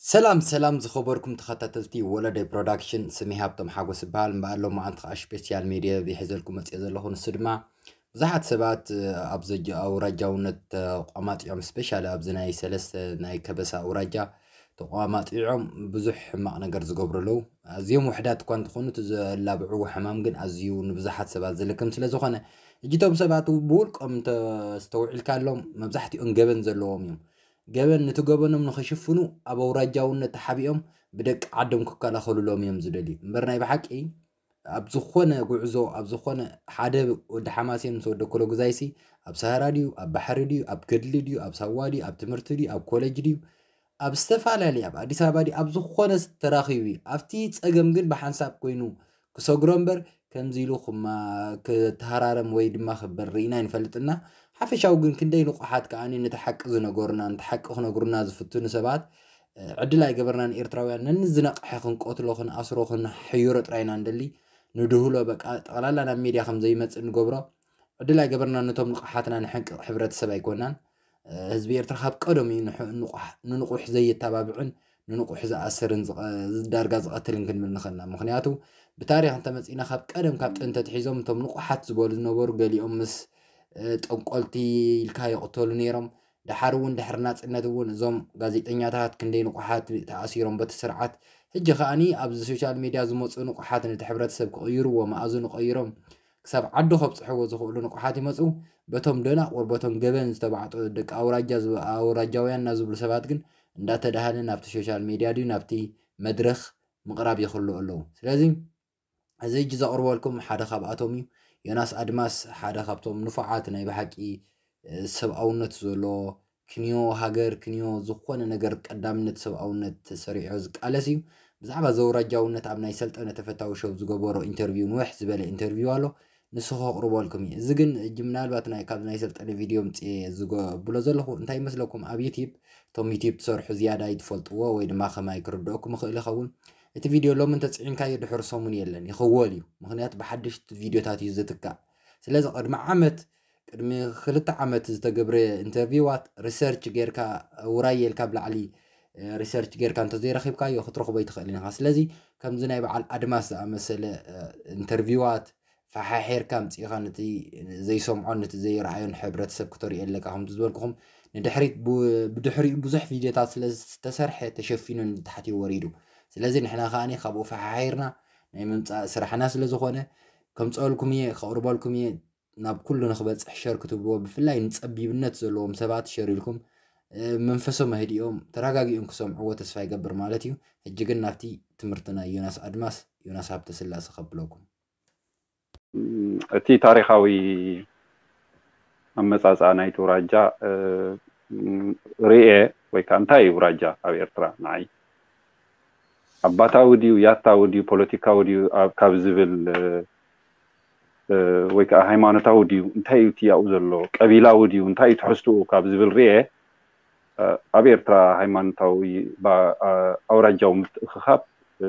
ሰላም ሰላም ዝኸበርኩም ተኸታተልቲ ወለደይ ፕሮዳክሽን፣ ስሜ ሃብቶም ሓጎስ ይበሃል። እምበኣር ሎማዓንቲ ከዓ ስፔሻል ሜድያ ሒዘልኩም መፅየ ዘለኹ። ንሱ ድማ ብዙሓት ሰባት ኣብ ዘጅ ኣውራጃውነት ተቋማጢዖም፣ ስፔሻሊ ኣብዚ ናይ ሰለስተ ናይ ከበሳ ኣውራጃ ተቋማጢዖም ብዙሕ ሕማቕ ነገር ዝገብሩ ኣለዉ። ኣዝዮም ውሕዳት እኳ እንተኾኑ እቲ ዘላብዕዎ ሕማም ግን ኣዝዩ ንብዙሓት ሰባት ዝልክም ስለ ዝኾነ፣ እጅቶም ሰባት ብውልቆም እንተስተውዒልካሎም መብዛሕትኦም ገበን ዘለዎም እዮም። ገበን ነቲ ገበኖም ንኽሽፍኑ ኣብ ኣውራጃውነት ተሓቢኦም ብደቂ ዓዶም ክከላኸሉሎም እዮም ዝደልዩ። እምበር ናይ ብሓቂ ኣብ ዝኾነ ጉዕዞ፣ ኣብ ዝኾነ ሓደ ወዲ ሓማሴን ምስ ወዲ ኮሎጉዛይሲ ኣብ ሰሃራ ድዩ፣ ኣብ ባሕሪ ድዩ፣ ኣብ ገድሊ ድዩ፣ ኣብ ሳዋ ድዩ፣ ኣብ ትምህርቲ ድዩ፣ ኣብ ኮሌጅ ድዩ፣ ኣብ ዝተፈላለየ፣ ኣብ ኣዲስ ኣበባ ድዩ፣ ኣብ ዝኾነ ተራኺቡ እዩ። ኣብቲ ጸገም ግን ብሓንሳብ ኮይኑ ክሰግሮ እምበር ከምዚ ኢሉ ክማ-፣ ክተሃራረም ወይ ድማ ክበል ርኢና ኣይንፈልጥና። ሓፈሻዊ ግን ክንደይ ንቑሓት ከኣ ነቲ ሓቂ ዝነገሩና፣ ነቲ ሓቂ ክነግሩና ዝፍትኑ ሰባት፣ እ፣ ዕድል ኣይገበርናን። ኤርትራውያን ነንዝነቕሐ ክንቀትሎ፣ ክንኣስሮ፣ ክንሕይሮ ጥራይ ኢና ንደሊ። ንድህሎ በቃ ጠቕላላ ናብ ሚድያ ከም ዘይመጽእ ንገብሮ። ዕድል ኣይገበርናን። ነቶም ንቑሓትና ንሕንቅቕ ሕብረተሰብ ኣይኮናን። እ፣ ህዝቢ ኤርትራ ካብ ቀደም እዩ ንሕ-፣ ንቑሕ-፣ ንንቑሕ ዘየተባብዕን ንንቑሕ ዝኣስርን ዝቐ-፣ ዳርጋ ዝቐትልን ክንብል ንኽእልና። ምኽንያቱ ብታሪኽ እንተመጺእና ካብ ቀደም ካብ ጥንቲ ኣትሒዞም እቶም ንቑሓት ዝበሉ ዝነበሩ ገሊኦም ምስ፣ እ፣ ጠንቆልቲ ኢልካ ይቕተሉ ነይሮም። ደሓር እውን ድሕሪ ናጽነት እውን እዞም ጋዜጠኛታት ክንደይ ንቑሓት ተኣሲሮም በቲ ስርዓት። ሕጂ ከኣኒ ኣብዚ ሶሻል ሚድያ ዝመጹ ንቑሓት ነቲ ሕብረተሰብ ክቕይርዎ፣ መኣዝኑ ቀይሮም ክሳብ ዓዱ ከብጽሕዎ ዝኽእሉ ንቑሓት ይመጹ። በቶም ደናቑር፣ በቶም ገበን ዝተባዕጡ ደቂ ኣውራጃ ዝብ-፣ ኣውራጃውያን እና ዝብሉ ሰባት ግን እንዳተዳሃለ ናብቲ ሶሻል ሚድያ ድዩ ናብቲ መድረኽ ምቕራብ ይኽእሉ ኣለዉ። ስለዚ እዚ ሕጂ ዘቕርበልኩም ሓደ ካብኣቶም እዩ። ዮናስ ኣድማስ ሓደ ካብቶም ንፉዓት ናይ ብሓቂ፣ እ፣ ሰብኣውነት ዘለዎ ክንዮ ሃገር፣ ክንዮ ዝኾነ ነገር ቀዳምነት ሰብኣውነት ተሰሪዑ ዝቃለስ እዩ። ብዛዕባ ዘውራጃውነት ኣብ ናይ ሰልጠነ ተፈታዊ ሾው ዝገበሮ ኢንተርቪው፣ ንውሕ ዝበለ ኢንተርቪው ኣሎ። ንሱ ከቕርበልኩም እዩ። እዚ ግን እጂ ምናልባት ናይ፣ ካብ ናይ ሰልጠነ ቪድዮ ምጽኤ ዝገ-፣ ብሎ ዘለኹ እንታይ ይመስለኩም? ኣብ ዩቲዩብ፣ እቶም ዩቲዩብ ትሰርሑ ዝያዳ ይትፈልጥዎ ወይ ድማ ከማይ ክርድኦኩም ይኽእል ይኸውን። እቲ ቪድዮ ሎሚ እንተጽዒንካዮ ድሕሪ ሰሙን የለን፣ ይኽወል እዩ። ምኽንያቱ ብሓደሽቲ ቪድዮታት እዩ ዝትካእ። ስለዚ ቅድሚ ዓመት፣ ቅድሚ ክልተ ዓመት ዝተገብረ ኢንተርቪዋት ሪሰርች ጌርካ፣ ውራይ ኢልካ ብላዕሊ፣ እ፣ ሪሰርች ጌርካ እንተዘይረኺብካዮ ክትረኽቦ ኣይትኽእልን ኢኻ። ስለዚ ከምዚ ናይ በዓል ኣድማስ ዝኣመሰለ፣ እ፣ ኢንተርቪዋት ፈሓሒርካ ኣምጺእኻ ነቲ ዘይሰምዖን ነቲ ዘይረኣዮን ሕብረተሰብ ክተርእዮ ኣለካ። ከምቲ ዝበልኩኹም ንድሕሪት ቡ-፣ ብድሕሪኡ ብዙሕ ቪድዮታት ስለ ዝተሰርሐ ተሸፊኑ ንታሕቲ ወሪዱ። ስለዚ ንሕና ከኣኒ ካብኡ ፈሓሒርና ናይ ምምጻእ ስራሕና ስለ ዝኾነ ከምጸልኩም እየ፣ ከቕርበልኩም እየ። ናብ ኩሉ ንክበጽሕ ሸር ክትብልዎ፣ ብፍላይ ንጸቢብነት ዘለዎም ሰባት ሸር ኢልኩም፣ እ፣ መንፈሶም ኣህዲኦም ተረጋጊኦም ክሰምዕዎ ተስፋ ይገብር ማለት እዩ። ሕጂ ግን ናብቲ ትምህርቲ ናይ ዮናስ ኣድማስ፣ ዮናስ ሃብተስላሴ ከብለኩም። እቲ ታሪኻዊ ኣመጻጽኣ ናይቲ ውራጃ፣ እ፣ ርእየ ወይ ከኣ እንታይ እዩ ውራጃ ኣብ ኤርትራ ንዓይ? ኣባታዊ ድዩ፣ ያታዊ ድዩ፣ ፖለቲካዊ ድዩ ኣብ፣ ካብ ዝብል፣ እ፣ እ፣ ወይ ከኣ ሃይማኖታዊ ድዩ፣ እንታይ እዩ እቲ ያኡ ዘሎ፣ ቀቢላዊ ድዩ፣ እንታይ እዩ ትሕዝትኡ ካብ ዝብል ርእየ፣ እ፣ ኣብ ኤርትራ ሃይማኖታዊ ባ-፣ ኣ-፣ ኣውራጃዊ ምትእኽኻብ፣ እ፣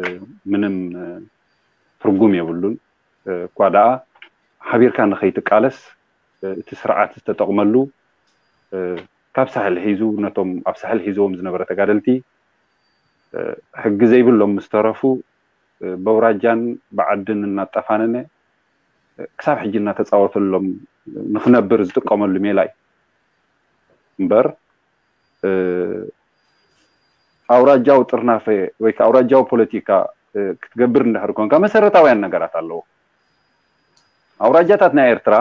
ምንም፣ እ፣ ትርጉም የብሉን። እ፣ እኳ ደኣ ሓቢርካ ንኸይትቃለስ፣ እ፣ እቲ ስርዓት ዝተጠቕመሉ፣ እ፣ ካብ ሳሕል ሒዙ ነቶም ኣብ ሳሕል ሒዝዎም ዝነበረ ተጋደልቲ፣ እ፣ ሕጊ ዘይብሎም ምስ ተረፉ፣ እ፣ በውራጃን ብዓድን እናጠፋነነ፣ እ፣ ክሳብ ሕጂ እናተጻወተሎም ንኽነብር ዝጥቀመሉ ሜላ እዩ። እምበር፣ እ፣ ኣውራጃዊ ጥርናፈ ወይ ከኣ ኣውራጃዊ ፖለቲካ፣ እ፣ ክትገብር እንድሕር ኮንካ መሰረታውያን ነገራት ኣለዎ። ኣውራጃታት ናይ ኤርትራ፣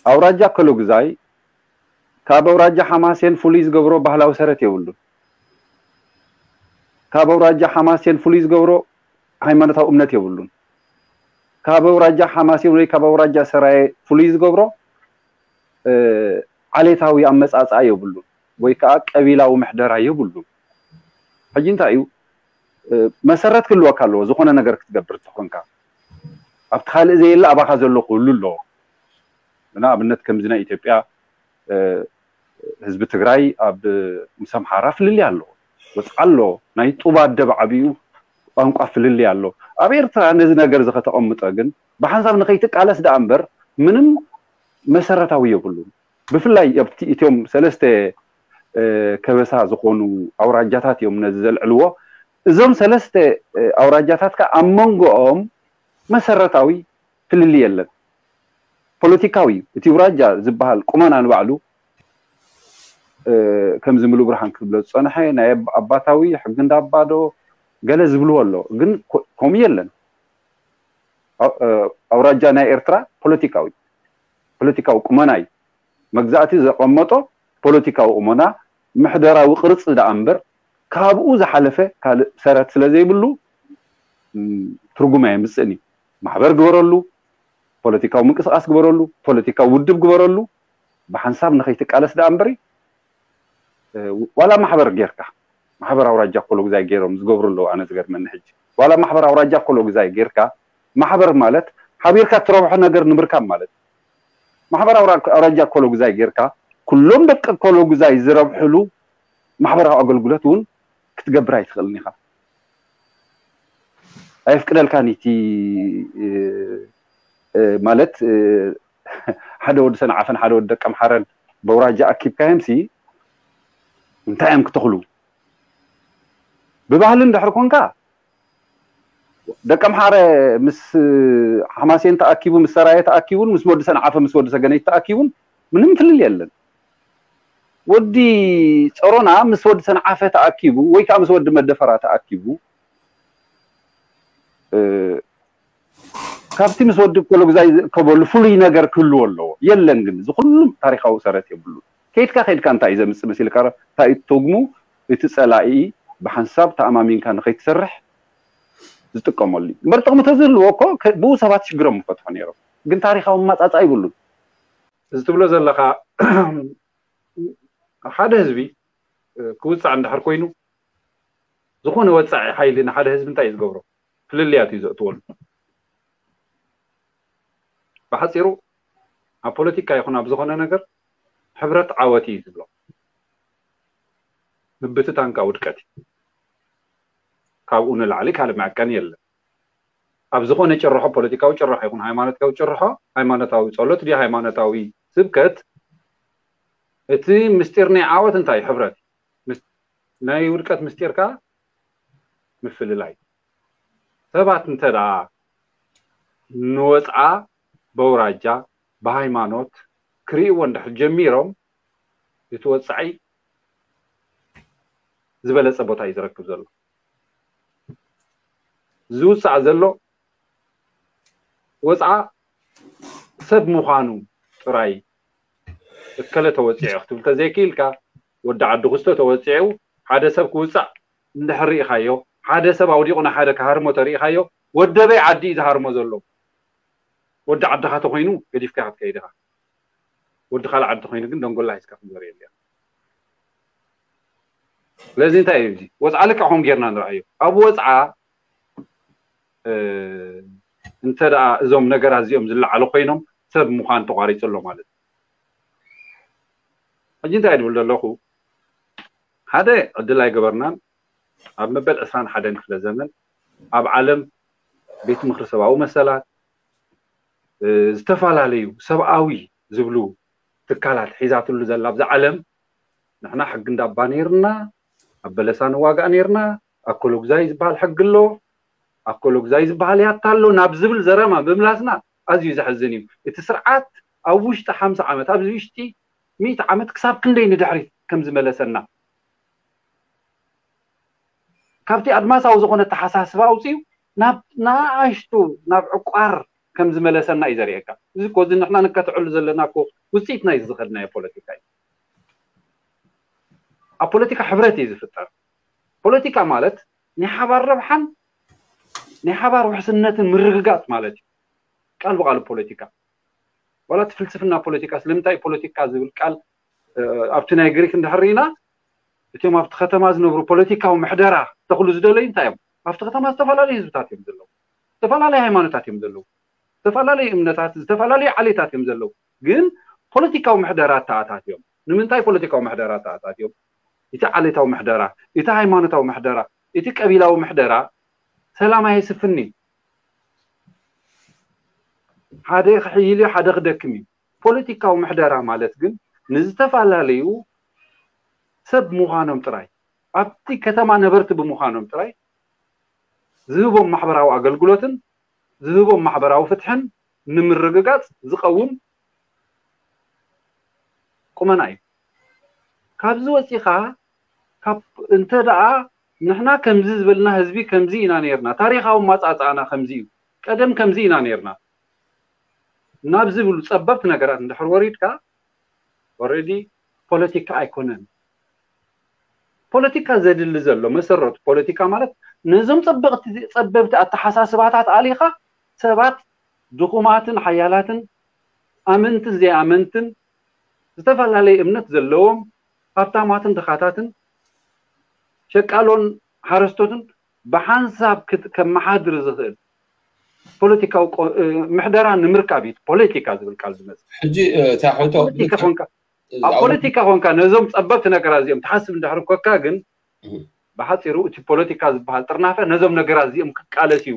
ኣውራጃ ኮሎጉዛይ ካብ ኣውራጃ ሓማሴን ፍሉይ ዝገብሮ ባህላዊ ሰረት የብሉን። ካብ ኣውራጃ ሓማሴን ፍሉይ ዝገብሮ ሃይማኖታዊ እምነት የብሉን። ካብ ኣውራጃ ሓማሴን ወይ ካብ ኣውራጃ ሰራየ ፍሉይ ዝገብሮ፣ እ፣ ዓሌታዊ ኣመጻጽኣ የብሉን ወይ ከኣ ቀቢላዊ ምሕደራ የብሉን። ሕጂ እንታይ እዩ፣ እ፣ መሰረት ክህልወካ ኣለዎ፣ ዝኾነ ነገር ክትገብር እንተኾንካ። ኣብቲ ካልእ ዘየለ ኣባኻ ዘሎ ክህሉ ኣለዎ። ንኣብነት ከምዚ ናይ ኢትዮጵያ፣ እ፣ ህዝቢ ትግራይ ኣብ ምስ ኣምሓራ ፍልልይ ኣለዎ፣ ወፅዓ ኣሎ፣ ናይ ጡብ ኣደብ ዓብዩ ቋንቋ ፍልልይ ኣሎ። ኣብ ኤርትራ ነዚ ነገር እዚ ከተቐምጦ ግን ብሓንሳብ ንኸይትቃለስ ደኣ እምበር ምንም መሰረታዊ የብሉን። ብፍላይ ኣብቲ እትዮም ሰለስተ ከበሳ ዝኾኑ ኣውራጃታት እዮም ነዚ ዘልዕልዎ። እዞም ሰለስተ ኣውራጃታት ከኣ ኣብ መንጎኦም መሰረታዊ ፍልልይ የለን። ፖለቲካዊ እዩ። እቲ ኣውራጃ ዝበሃል ቁመና ንባዕሉ ከምዚ ምሉ ብርሃን ክብሎ ዝፀንሐ ናይ ኣባታዊ ሕጊ እንዳባዶ ገለ ዝብልዎ ኣሎ፣ ግን ከምኡ የለን። ኣውራጃ ናይ ኤርትራ ፖለቲካዊ ፖለቲካዊ ቁመና እዩ። መግዛእቲ ዘቐመጦ ፖለቲካዊ ቁመና ምሕደራዊ ቅርፂ ደኣ እምበር ካብኡ ዝሓለፈ ካልእ ሰረት ስለ ዘይብሉ ትርጉም ኣየምፅእን እዩ። ማሕበር ግበረሉ፣ ፖለቲካዊ ምንቅስቃስ ግበረሉ፣ ፖለቲካዊ ውድብ ግበረሉ፣ ብሓንሳብ ንኸይትቃለስ ደኣ እምበሪ ዋላ ማሕበር ጌርካ ማሕበር ኣውራጃ ኮሎግዛይ ገይሮም ዝገብሩ ኣለዉ። ኣነ ዝገርመኒ ሕጂ ዋላ ማሕበር ኣውራጃ ኮሎግዛይ ጌርካ ማሕበር ማለት ሓቢርካ እትረብሖ ነገር ንምርካብ ማለት ማሕበር ኣውራጃ ኮሎግዛይ ጌርካ ኩሎም ደቂ ኮሎግዛይ ዝረብሕሉ ማሕበራዊ ኣገልግሎት እውን ክትገብር ኣይትኽእልን ኢኻ። ኣየፍቅደልካን እቲ ማለት ሓደ ወዲ ሰንዓፈን ሓደ ወዲ ደቀምሓረን በውራጃ ኣኪብካዮምሲ እንታይ እዮም ክተኽሉ? ብባህሊ እንድሕር ኮንካ ደቀምሓረ ምስ ሓማሴን ተኣኪቡ ምስ ሰራየ ተኣኪቡን ምስ ወዲ ሰንዓፈ ምስ ወዲ ሰገነይ ተኣኪቡን ምንም ፍልል የለን። ወዲ ጸሮና ምስ ወዲ ሰንዓፈ ተኣኪቡ ወይ ከዓ ምስ ወዲ መደፈራ ተኣኪቡ ካብቲ ምስ ወዲ ኮሎግዛይ ዝርከበሉ ፍሉይ ነገር ክህልዎ ኣለዎ። የለን ግን እዚ ኩሉም ታሪካዊ ሰረት የብሉ። ከይድካ ከይድካ እንታይ እዩ ዘምፅእ መሲልካ እንታይ እዩ ትርጉሙ? እቲ ፀላኢ ብሓንሳብ ተኣማሚንካ ንኸይትሰርሕ ዝጥቀመሉ እዩ። እምበር ጥቕሚ ተዝህልዎ እኮ ብኡ ሰባት ሽግሮም ምፈትሑ ነይሮም። ግን ታሪካዊ መማፃፃ ይብሉን። እዚ ትብሎ ዘለካ ሓደ ህዝቢ ክውፃዕ እንድሕር ኮይኑ ዝኾነ ወፃዒ ሓይሊ ንሓደ ህዝቢ እንታይ እዩ ዝገብሮ? ፍልልያት እዩ ዘእትወሉ። ብሓፂሩ ኣብ ፖለቲካ ይኹን ኣብ ዝኾነ ነገር ሕብረት ዓወት እዩ ዝብሎ። ምብትታንካ ውድቀት እዩ። ካብኡ ንላዕሊ ካልእ መዐቀኒ የለን። ኣብ ዝኾነ ጭርሖ ፖለቲካዊ ጭርሖ ይኹን ሃይማኖታዊ ጭርሖ ሃይማኖታዊ ፀሎት ድዩ ሃይማኖታዊ ስብከት እቲ ምስጢር ናይ ዓወት እንታይ ሕብረት ናይ ውድቀት ምስጢር ከዓ ምፍልላይ ሰባት እንተ ደኣ ንወፅዓ በውራጃ ብሃይማኖት ክርእይዎ እንድሕር ጀሚሮም እቲ ወፃዒ ዝበለፀ ቦታ እዩ ዝረክብ ዘሎ። ዝውፃእ ዘሎ ወፅዓ ሰብ ምዃኑ ጥራይ እከለ ተወፂዑ ክትብል ተዘይክኢልካ ወዲ ዓዲ ክስቶ ተወፂዑ ሓደ ሰብ ክውፃእ እንድሕር ርኢኻዮ ሓደ ሰብ ኣውዲቑ ንሓደ ክሃርሞ ተርኢኻዮ ወደበይ ዓዲ እዩ ዝሃርሞ ዘሎ። ወዲ ዓድኻ ተኾይኑ ገዲፍካ ክትከይድ ኢኻ። ወዲ ካልእ ዓዲ ተኾይኑ ግን ደንጎላ ሒዝካ ክትዞር የድልያ። ስለዚ እንታይ እዩ እዚ ወፅዓ ልክዕ ከም ጌርና ንርኣዮ ኣብ ወፅዓ እንተ ደኣ እዞም ነገራት እዚኦም ዝለዓሉ ኮይኖም ሰብ ምዃን ተቋሪፁ ኣሎ ማለት እዩ። ሕጂ እንታይ ድብል ዘለኹ ሓደ ዕድል ኣይገበርናን ኣብ መበል ዕስራን ሓደን ክፍለ ዘመን ኣብ ዓለም ቤት ምኽሪ ሰብኣዊ መሰላት ዝተፈላለዩ ሰብኣዊ ዝብሉ ትካላት ሒዛትሉ ዘላ ኣብዛ ዓለም ንሕና ሕጊ እንዳባ ነይርና ኣብ በለሳ ንዋጋእ ነይርና ኣኮሎግዛይ ዝበሃል ሕጊ ኣሎ ኣኮሎግዛይ ዝበሃል ያታ ኣሎ ናብ ዝብል ዘረማ ምምላስና ኣዝዩ ዘሕዝን እዩ እቲ ስርዓት ኣብ ውሽጢ ሓምሳ ዓመት ኣብዚ ውሽጢ ሚእቲ ዓመት ክሳብ ክንደይ ንድሕሪት ከም ዝመለሰና ካብቲ ኣድማሳዊ ዝኾነ ተሓሳስባ ኣውፅኡ ናብ ንኣሽቱ ናብ ዕቋር ከም ዝመለሰና እዩ ዘርእየካ እዚ እኮ እዚ ንሕና ንከትዕሉ ዘለና እኮ ውፅኢት ናይ ዝኸድናዮ ፖለቲካ እዩ ኣብ ፖለቲካ ሕብረት እዩ ዝፍጠር ፖለቲካ ማለት ናይ ሓባር ረብሓን ናይ ሓባር ውሕስነትን ምርግጋፅ ማለት እዩ ቃል ብቃሉ ፖለቲካ ዋላ እቲ ፍልስፍና ፖለቲካ ስለምንታይ ፖለቲካ ዝብል ቃል ኣብቲ ናይ ግሪክ እንድሕር ኢና እቲኦም ኣብቲ ከተማ ዝነብሩ ፖለቲካዊ ምሕደራ ተኽሉ ዝደለዩ እንታይ እዮም ኣብቲ ከተማ ዝተፈላለዩ ህዝብታት እዮም ዘለዉ ዝተፈላለዩ ሃይማኖታት እዮም ዘለዉ ዝተፈላለዩ እምነታት ዝተፈላለዩ ዓሌታት እዮም ዘለዉ ግን ፖለቲካዊ ምሕደራ ተኣታት እዮም ንምንታይ ፖለቲካዊ ምሕደራ ተኣታት እዮም እቲ ዓሌታዊ ምሕደራ እቲ ሃይማኖታዊ ምሕደራ እቲ ቀቢላዊ ምሕደራ ሰላም ኣየስፍን እዩ ሓደ ክሕይል እዩ ሓደ ክደክም እዩ ፖለቲካዊ ምሕደራ ማለት ግን ንዝተፈላለዩ ሰብ ምዃኖም ጥራይ፣ ኣብቲ ከተማ ነበርቲ ብምዃኖም ጥራይ ዝህቦም ማሕበራዊ ኣገልግሎትን ዝህቦም ማሕበራዊ ፍትሕን ንምርግጋጽ ዝቐውም ቁመና እዩ። ካብዚ ወፂኻ ካብ እንተ ደኣ ንሕና ከምዚ ዝበልና ህዝቢ ከምዚ ኢና ነርና፣ ታሪኻዊ ማጻጻእና ከምዚ እዩ፣ ቀደም ከምዚ ኢና ነርና ናብ ዝብሉ ጸበብቲ ነገራት እንድሕር ወሪድካ፣ ኦልሬዲ ፖለቲካ ኣይኮነን። ፖለቲካ ዘድሊ ዘሎ መሰረቱ ፖለቲካ ማለት ነዞም ጸበቕቲ ጸበብቲ ኣተሓሳስባታት ኣሊኻ ሰባት ድኹማትን ሓያላትን ኣመንትን ዘይኣመንትን ዝተፈላለየ እምነት ዘለዎም ሃብታማትን ድኻታትን ሸቃሎን ሓረስቶትን ብሓንሳብ ክት- ከመሓድር ዝኽእል ፖለቲካዊ ቆ- እ፣ ምሕደራ ንምርካብ እዩ ፖለቲካ ዝብል ቃል ዝመጽእ። ሕጂ እ፣ እታ ሕቶ ፖለቲካ ኮንካ ኣብ ፖለቲካ ኮንካ ነዞም ጸበብቲ ነገራት እዚኦም ትሓስብ እንድሕር ኮካ ግን እህ። ብሓፂሩ እቲ ፖለቲካ ዝበሃል ጥርናፈ ነዞም ነገራት እዚኦም ክቃለስ እዩ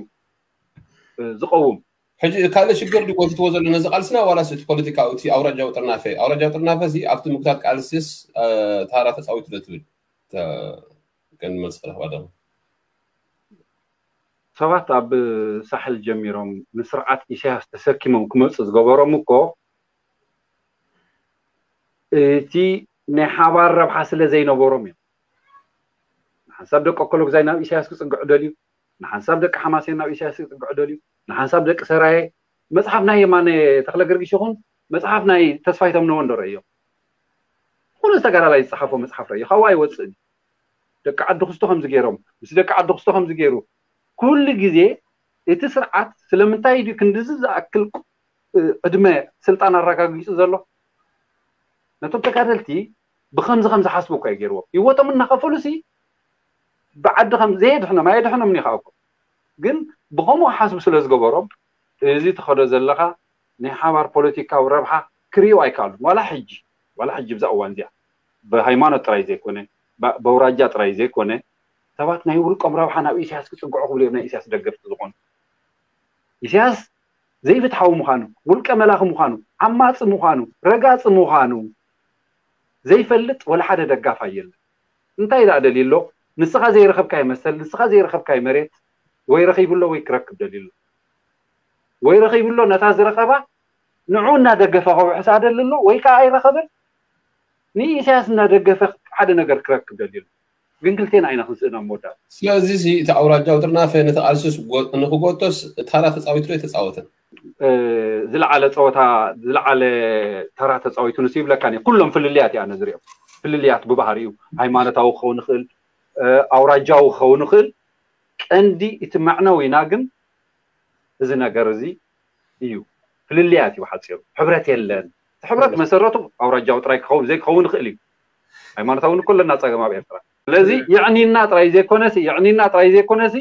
እ፣ ዝቐውም። ሕጂ ካልእ ሽግር ድዩ ጎቲትዎ ዘሎ ነዚ ቃልስና ዋላስ እቲ ፖለቲካዊ እቲ ኣውራጃዊ ጥርናፈ ኣውራጃዊ ጥርናፈ እዚ ኣብቲ ምክታት ቃልስስ እ፣ ታራ ተፃዊቱ ዶ ትብል ተ- ቀንዲ መልሲ ክረኽባ ደሞ ሰባት ኣብ ሳሕል ጀሚሮም ንስርዓት ኢሳያስ ተሰኪሞም ክመፁ ዝገበሮም እኮ እቲ ናይ ሓባር ረብሓ ስለ ዘይነበሮም እዮም። ንሓንሳብ ደቂ ኣኮሎግዛይ ናብ ኢሳያስ ክፅግዑ ደልዩ፣ ንሓንሳብ ደቂ ሓማሴን ናብ ኢሳያስ ክፅግዑ ደልዩ፣ ንሓንሳብ ደቂ ሰራየ መፅሓፍ ናይ የማነ ተክለ ገርጊሽ ይኹን መፅሓፍ ናይ ተስፋይ ተምነወን ዶ ረእዮም? ዝኾነ ዝተጋዳላይ ዝፀሓፎ መፅሓፍ ረእዮ ካብኡ ኣይወፅእን። ደቂ ዓዲ ክስቶ ከምዚ ገይሮም ምስ ደቂ ዓዲ ክስቶ ከምዚ ገይሩ ኩሉ ግዜ እቲ ስርዓት ስለምንታይ ድዩ ክንድዚ ዝኣክል እ፣ ዕድመ ስልጣን ኣረጋጊፁ ዘሎ? ነቶም ተጋደልቲ ብከምዚ ከም ዝሓስቡ እኮ እዩ ገይርዎም። ህይወቶም እናኸፈሉ ሲ ብዓዲ ከም ዘየድሕኖም ኣየድሕኖም እዩ ከዓ እኮ ግን ብከምኡ ሓስቡ ስለ ዝገበሮም እዚ ትኸዶ ዘለኻ ናይ ሓባር ፖለቲካዊ ረብሓ ክርእዩ ኣይከኣሉን። ዋላ ሕጂ ዋላ ሕጂ ብዛ እዋን እዚኣ ብሃይማኖት ጥራይ ዘይኮነ ብ- በውራጃ ጥራይ ዘይኮነ ሰባት ናይ ውልቆም ረብሓ ናብ ኢሳያስ ክፅግዑ ክብሉ እዮም ናይ ኢሳያስ ደገፍቲ ዝኾኑ። ኢሳያስ ዘይፍትሓዊ ምዃኑ፣ ውልቀ መላኺ ምዃኑ፣ ዓማፂ ምዃኑ፣ ረጋፂ ምዃኑ ዘይፈልጥ ወላ ሓደ ደጋፋይ የለን። እንታይ ደኣ ደልዩ ኣሎ? ንስኻ ዘይረኸብካዮ መሰል፣ ንስኻ ዘይረኸብካዮ መሬት ወይ ረኺቡ ኣሎ ወይ ክረክብ ደልዩ ኣሎ። ወይ ረኺቡ ኣሎ ነታ ዝረኸባ ንዑ እናደገፈ ከውሕሳ ደሊ ኣሎ ወይ ከዓ ኣይረኸበን ንኢሳያስ እናደገፈ ሓደ ነገር ክረክብ ደልዩ ኣሎ። ግን ክልቴና ኢና ክንስእን ኣብ መወዳእታ። ስለዚ እዚ እቲ ኣውራጃዊ ጥርናፈ ነቲ ቃልስስ ጎ- ንክጎቶስ ታራ ተፃዊቱ ዶ ኣይተፃወተን? እ፣ ዝለዓለ ፀወታ ዝለዓለ ተራ ተፃዊቱ ንሱ ይብለካ እየ። ኩሎም ፍልልያት እያ ነዝሪኦም ፍልልያት ብባህሪኡ ሃይማኖታዊ ክኸውን ይኽእል እ፣ ኣውራጃዊ ክኸውን ይኽእል ቀንዲ እቲ መዕነዊና ግን እዚ ነገር እዚ እዩ ፍልልያት እዩ ሓፂሩ ሕብረት የለን እቲ ሕብረት መሰረቱ ኣውራጃዊ ጥራይ ክኸውን ዘይክኸውን ይኽእል እዩ ሃይማኖታዊ እውን እኮ ኣለና ፀገም ኣብ ኤርትራ ስለዚ የዕኒና ጥራይ ዘይኮነሲ የዕኒና ጥራይ ዘይኮነሲ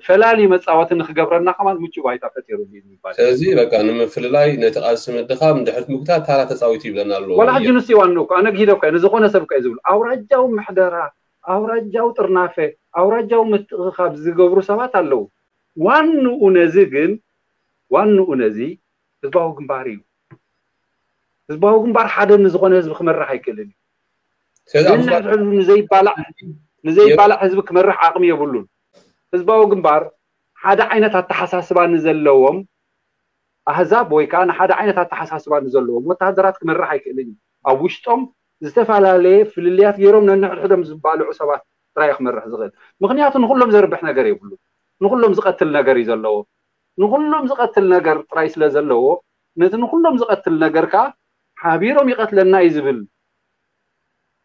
ፈላሊ መፃወቲ ንክገብረና ከማን ምቹ ባይታ ፈጢሩ እዩ ይባል ስለዚ በቃ ንምፍልላይ ነቲ ቃልሲ ምድኻም ድሕሪት ምጉታት ታራ ተፃዊቱ ይብለና ኣለዎ ዋላ ሕጂ ንሱ ይዋንኡ እኮ ኣነ ግሂደ እኮ ንዝኾነ ሰብ እኮ እዩ ዝብሉ ኣውራጃዊ ምሕደራ ኣውራጃዊ ጥርናፈ ኣውራጃዊ ምትእኽኻብ ዝገብሩ ሰባት ኣለዉ ዋንኡ ነዚ ግን ዋንኡ ነዚ ህዝባዊ ግንባር እዩ ህዝባዊ ግንባር ሓደ ንዝኾነ ህዝቢ ክመርሕ ኣይክእልን እዩ ንሕድሕዱ ንዘይባላዕ ንዘይባላዕ ህዝቢ ክመርሕ ዓቕሚ የብሉን ህዝባዊ ግንባር ሓደ ዓይነት ኣተሓሳስባ ንዘለዎም ኣህዛብ ወይ ከዓ ንሓደ ዓይነት ኣተሓሳስባ ንዘለዎም ወተሃደራት ክመርሕ ኣይክእልን እዩ ኣብ ውሽጦም ዝተፈላለየ ፍልልያት ገይሮም ነንሕድሕዶም ዝባልዑ ሰባት ጥራይ ክመርሕ ዝኽእል ምክንያቱ ንኩሎም ዘርብሕ ነገር የብሉ ንኩሎም ዝቀትል ነገር እዩ ዘለዎ ንኩሎም ዝቀትል ነገር ጥራይ ስለ ዘለዎ ነቲ ንኩሎም ዝቀትል ነገር ከዓ ሓቢሮም ይቀትለና እዩ ዝብል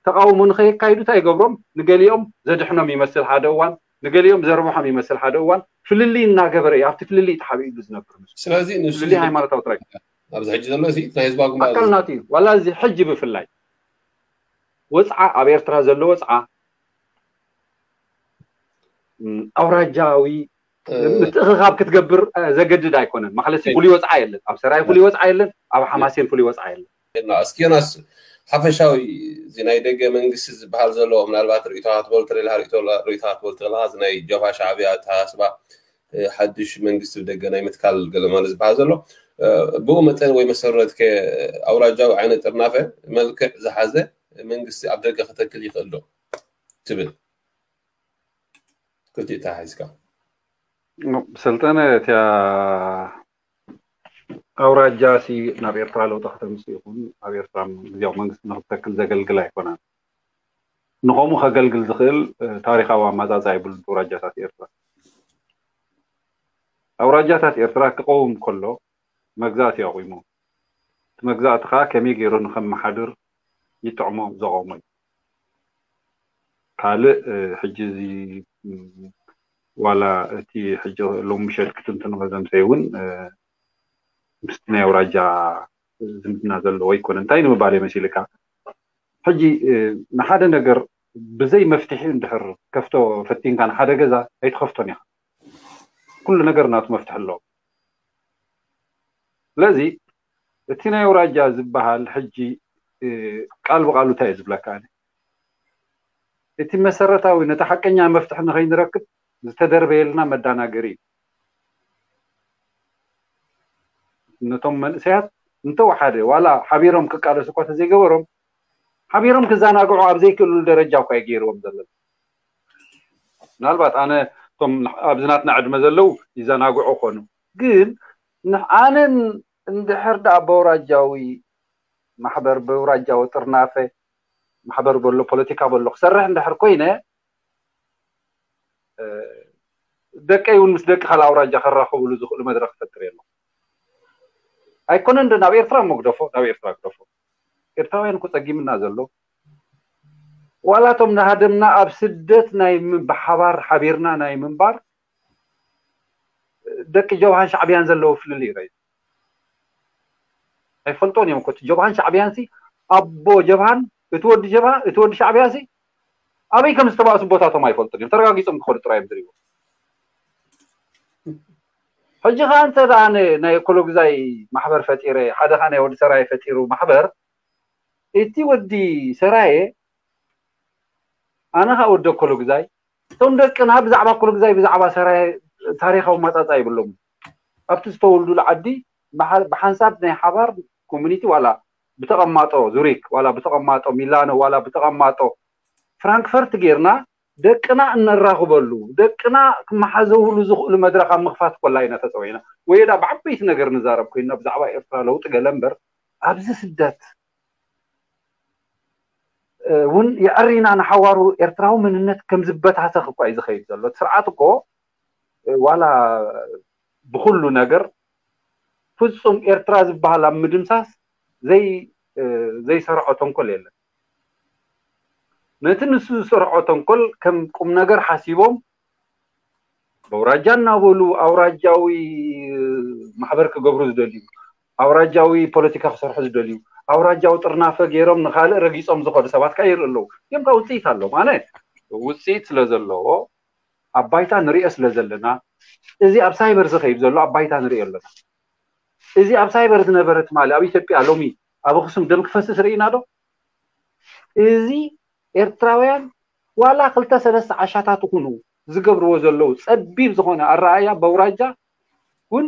ተቃውሞ ንከየካይዱ እንታይ ይገብሮም ንገሊኦም ዘድሕኖም ይመስል ሓደ እዋን ንገሊኦም ዘርብሖም ይመስል ሓደ እዋን ፍልልይ እናገበረ እዩ ኣብቲ ፍልልይ ተሓቢኡ ዝነብር ንሱ ስለዚ ንሱ ፍልልይ ሃይማኖታዊ ጥራይ ኣብዚ ሕጂ ዘሎ እዚ ናይ ህዝባዊ ግንባር ኣካል ናቱ እዩ ዋላ እዚ ሕጂ ብፍላይ ወፅዓ ኣብ ኤርትራ ዘሎ ወፅዓ ኣውራጃዊ ምትእኽኻብ ክትገብር ዘገድድ ኣይኮነን ማለትሲ ፍሉይ ወፅዓ የለን ኣብ ሰራይ ፍሉይ ወፅዓ የለን ኣብ ሓማሴን ፍሉይ ወፅዓ የለን እስኪ ዮናስ ሓፈሻዊ እዚ ናይ ደገ መንግስቲ ዝበሃል ዘሎ ምናልባት ርእይቶካ ክትበሉ ትኽእል ርእይቶካ ክትበሉ ትኽእል እዚ ናይ ጀብሃ ሻዕብያ ኣተሓሳስባ ሓድሽ መንግስቲ ብደገ ናይ ምትካል ገለ ማለት ዝበሃል ዘሎ ብኡ መጠን ወይ መሰረት ኣውራጃዊ ዓይነት ጥርናፈ መልክዕ ዝሓዘ መንግስቲ ኣብ ደገ ክተክል ይኽእል ዶ ትብል? ክልቲኡ ተሓሒዝካ። ሰልጠነ፣ እቲያ ኣውራጃ ሲ ናብ ኤርትራ ለውጢ ከተምፅእ ይኹን ኣብ ኤርትራ ግዜያዊ መንግስቲ ንክትተክል ዘገልግል ኣይኮነን። ንኸምኡ ከገልግል ዝኽእል ታሪኻዊ ኣማፃፃ የብሉን። ኣውራጃታት ኤርትራ ኣውራጃታት ኤርትራ ክቐውም ከሎ መግዛእቲ ኣቑሙ። እቲ መግዛእቲ ከዓ ከመይ ገይሩ ንከመሓድር ይጥዕሞ ዘቐሞ እዩ። ካልእ ሕጂ እዚ ዋላ እቲ ሕጂ ሎሚ ምሸት ክትንትኖ ዘምሰይ እውን ምስቲ ናይ ኣውራጃ ዝምድና ዘለዎ ኣይኮነ። እንታይ ንምባል መሲልካ ሕጂ ንሓደ ነገር ብዘይ መፍትሒ እንድሕር ከፍቶ ፈቲንካ ንሓደ ገዛ ኣይትኸፍቶን ኢኻ። ኩሉ ነገር ናቱ መፍትሒ ኣለዎ። ስለዚ እቲ ናይ ኣውራጃ ዝበሃል ሕጂ ቃል ብቃሉ እንታይ እዩ ዝብለካ? እቲ መሰረታዊ ነቲ ሓቀኛ መፍትሒ ንኸይንረክብ ዝተደርበየልና መዳናገሪ እዩ። ነቶም መንእሰያት እንተወሓደ ዋላ ሓቢሮም ክቃለሱ እኳ ተዘይገበሮም ሓቢሮም ክዘናግዑ ኣብ ዘይክእልሉ ደረጃ እኳ ይገይርዎም ዘሎ። ምናልባት ኣነ እቶም ኣብዚ ናትና ዕድመ ዘለዉ ይዘናግዑ ኮኑ፣ ግን ኣነ እንድሕር ደኣ በውራጃዊ ማሕበር በውራጃዊ ጥርናፈ ማሕበር በሎ ፖለቲካ በሎ ክሰርሕ እንድሕር ኮይነ ደቀይ እውን ምስ ደቂ ካልእ ኣውራጃ ከራኸብሉ ዝኽእሉ መድረክ ክፈጥር የለ። ኣይኮነን ዶ ናብ ኤርትራ እሞ ግደፎ፣ ናብ ኤርትራ ግደፎ። ኤርትራውያን እኮ ጸጊምና ዘሎ ዋላቶም ንሃደምና ኣብ ስደት ናይ ብሓባር ሓቢርና ናይ ምንባር ደቂ ጀብሃን ሻዕብያን ዘለዎ ፍልልይ ረዩ ኣይፈልጦን እዮም እኮ። ጀብሃን ሻዕብያን ሲ ኣቦ ጀብሃን እቲ ወዲ ጀብሃ እቲ ወዲ ሻዕብያ ሲ ኣበይ ከም ዝተባእሱ ቦታቶም ኣይፈልጡን እዮም። ተረጋጊጾም ክኸዱ ጥራይ እዮም ዝሪእዎ። ሕጂ ከዓ እንተ ደኣ ናይ ኮሎግዛይ ማሕበር ፈጢረ ሓደ ከዓ ናይ ወዲ ሰራየ ፈጢሩ ማሕበር እቲ ወዲ ሰራየ ኣነ ከዓ ወዲ ኮሎግዛይ እቶም ደቅና ብዛዕባ ኮሎግዛይ ብዛዕባ ሰራየ ታሪኻዊ ማጻጻ ይብሎም ኣብቲ ዝተወልዱሉ ዓዲ ብሓንሳብ ናይ ሓባር ኮሚኒቲ ዋላ ብተቐማጦ ዙሪክ ዋላ ብተቐማጦ ሚላኖ ዋላ ብተቐማጦ ፍራንክፈርት ጌርና ደቅና እነራኽበሉ ደቅና ክመሓዘውሉ ዝኽእሉ መድረኽ ኣብ ምኽፋት ኮላ ኢና ተፀዊዕና። ወይ ዳ ብዓበይቲ ነገር ንዛረብ ኮይንና ብዛዕባ ኤርትራ ለውጢ ገለ እምበር ኣብዚ ስደት እውን የዕሪና ንሓዋሩ ኤርትራዊ መንነት ከም ዝበታተኽ እኳ እዩ ዝኸይድ ዘሎ። እቲ ስርዓት እኮ ዋላ ብኩሉ ነገር ፍጹም ኤርትራ ዝበሃል ኣብ ምድምሳስ ዘይሰርዖ ተንኮል የለን። ነቲ ንሱ ዝሰርዖ ተንኮል ከም ቁም ነገር ሓሲቦም በውራጃ እናበሉ ኣውራጃዊ ማሕበር ክገብሩ ዝደልዩ ኣውራጃዊ ፖለቲካ ክሰርሑ ዝደልዩ ኣውራጃዊ ጥርናፈ ገይሮም ንካልእ ረጊፆም ዝኸዱ ሰባት ከዓ ይርኢ ኣለዉ። እዮም ከዓ ውፅኢት ኣለዎም። ኣነ ውፅኢት ስለ ዘለዎ ኣብ ባይታ ንሪኦ ስለ ዘለና እዚ ኣብ ሳይበር ዝኸይድ ዘሎ ኣብ ባይታ ንሪኦ ኣለና። እዚ ኣብ ሳይበር ዝነበረ ትማሊ ኣብ ኢትዮጵያ ሎሚ ኣብ ኣኽሱም ደም ክፈስስ ርኢና ዶ? እዚ ኤርትራውያን ዋላ ክልተ ሰለስተ ዓሻታት ይኹኑ ዝገብርዎ ዘለዉ ጸቢብ ዝኾነ ኣረኣያ በውራጃ እውን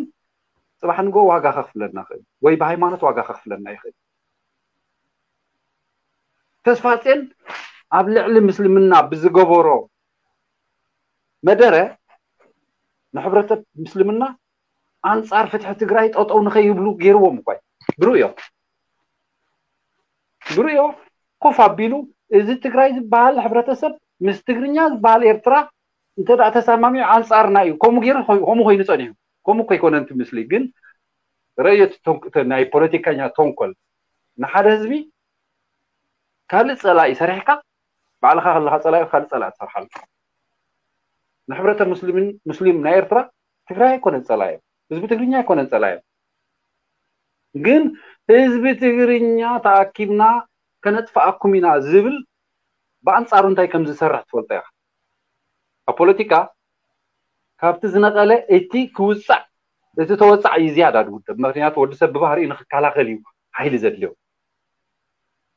ጽባሕ ንጎ ዋጋ ከኽፍለና ይኽእል ወይ ብሃይማኖት ዋጋ ከኽፍለና ይኽእል። ተስፋጼን ኣብ ልዕሊ ምስልምና ብዝገበሮ መደረ ንሕብረተሰብ ምስልምና ኣንጻር ፍትሒ ትግራይ ጠጠው ንኸይብሉ ገይርዎም እኳ እዩ። ብርእዮ ብርእዮ ኮፍ ኣቢሉ እዚ ትግራይ ዝበሃል ሕብረተሰብ ምስ ትግርኛ ዝበሃል ኤርትራ እንተ ደኣ ተሰማሚዑ ኣንጻርና እዩ። ከምኡ ገይሩ ከምኡ ኮይኑ ጸኒሑ። ከምኡ እኮ ኣይኮነን እቲ ምስሊ ግን ረእዮ ናይ ፖለቲከኛ ተንኮል ንሓደ ህዝቢ ካልእ ጸላኢ ሰሪሕካ ባዕልኻ ከለኻ ጸላኢ ካልእ ጸላኢ ትሰርሓሉ። ንሕብረተ ሙስሊምን ሙስሊም ናይ ኤርትራ ትግራይ ኣይኮነን ጸላኢ ህዝቢ ትግርኛ ኣይኮነን ጸላኢ ግን ህዝቢ ትግርኛ ተኣኪብና ከነጥፍኣኩም ኢና ዝብል ብኣንጻሩ እንታይ ከም ዝሰርሕ ትፈልጦ ኢኻ። ኣብ ፖለቲካ ካብቲ ዝነቐለ እቲ ክውጻዕ እቲ ተወጻዕ እዩ ዝያዳ ዝውደብ። ምክንያቱ ወዲ ሰብ ብባህሪኡ ንክከላኸል እዩ ሓይሊ ዘድልዮ።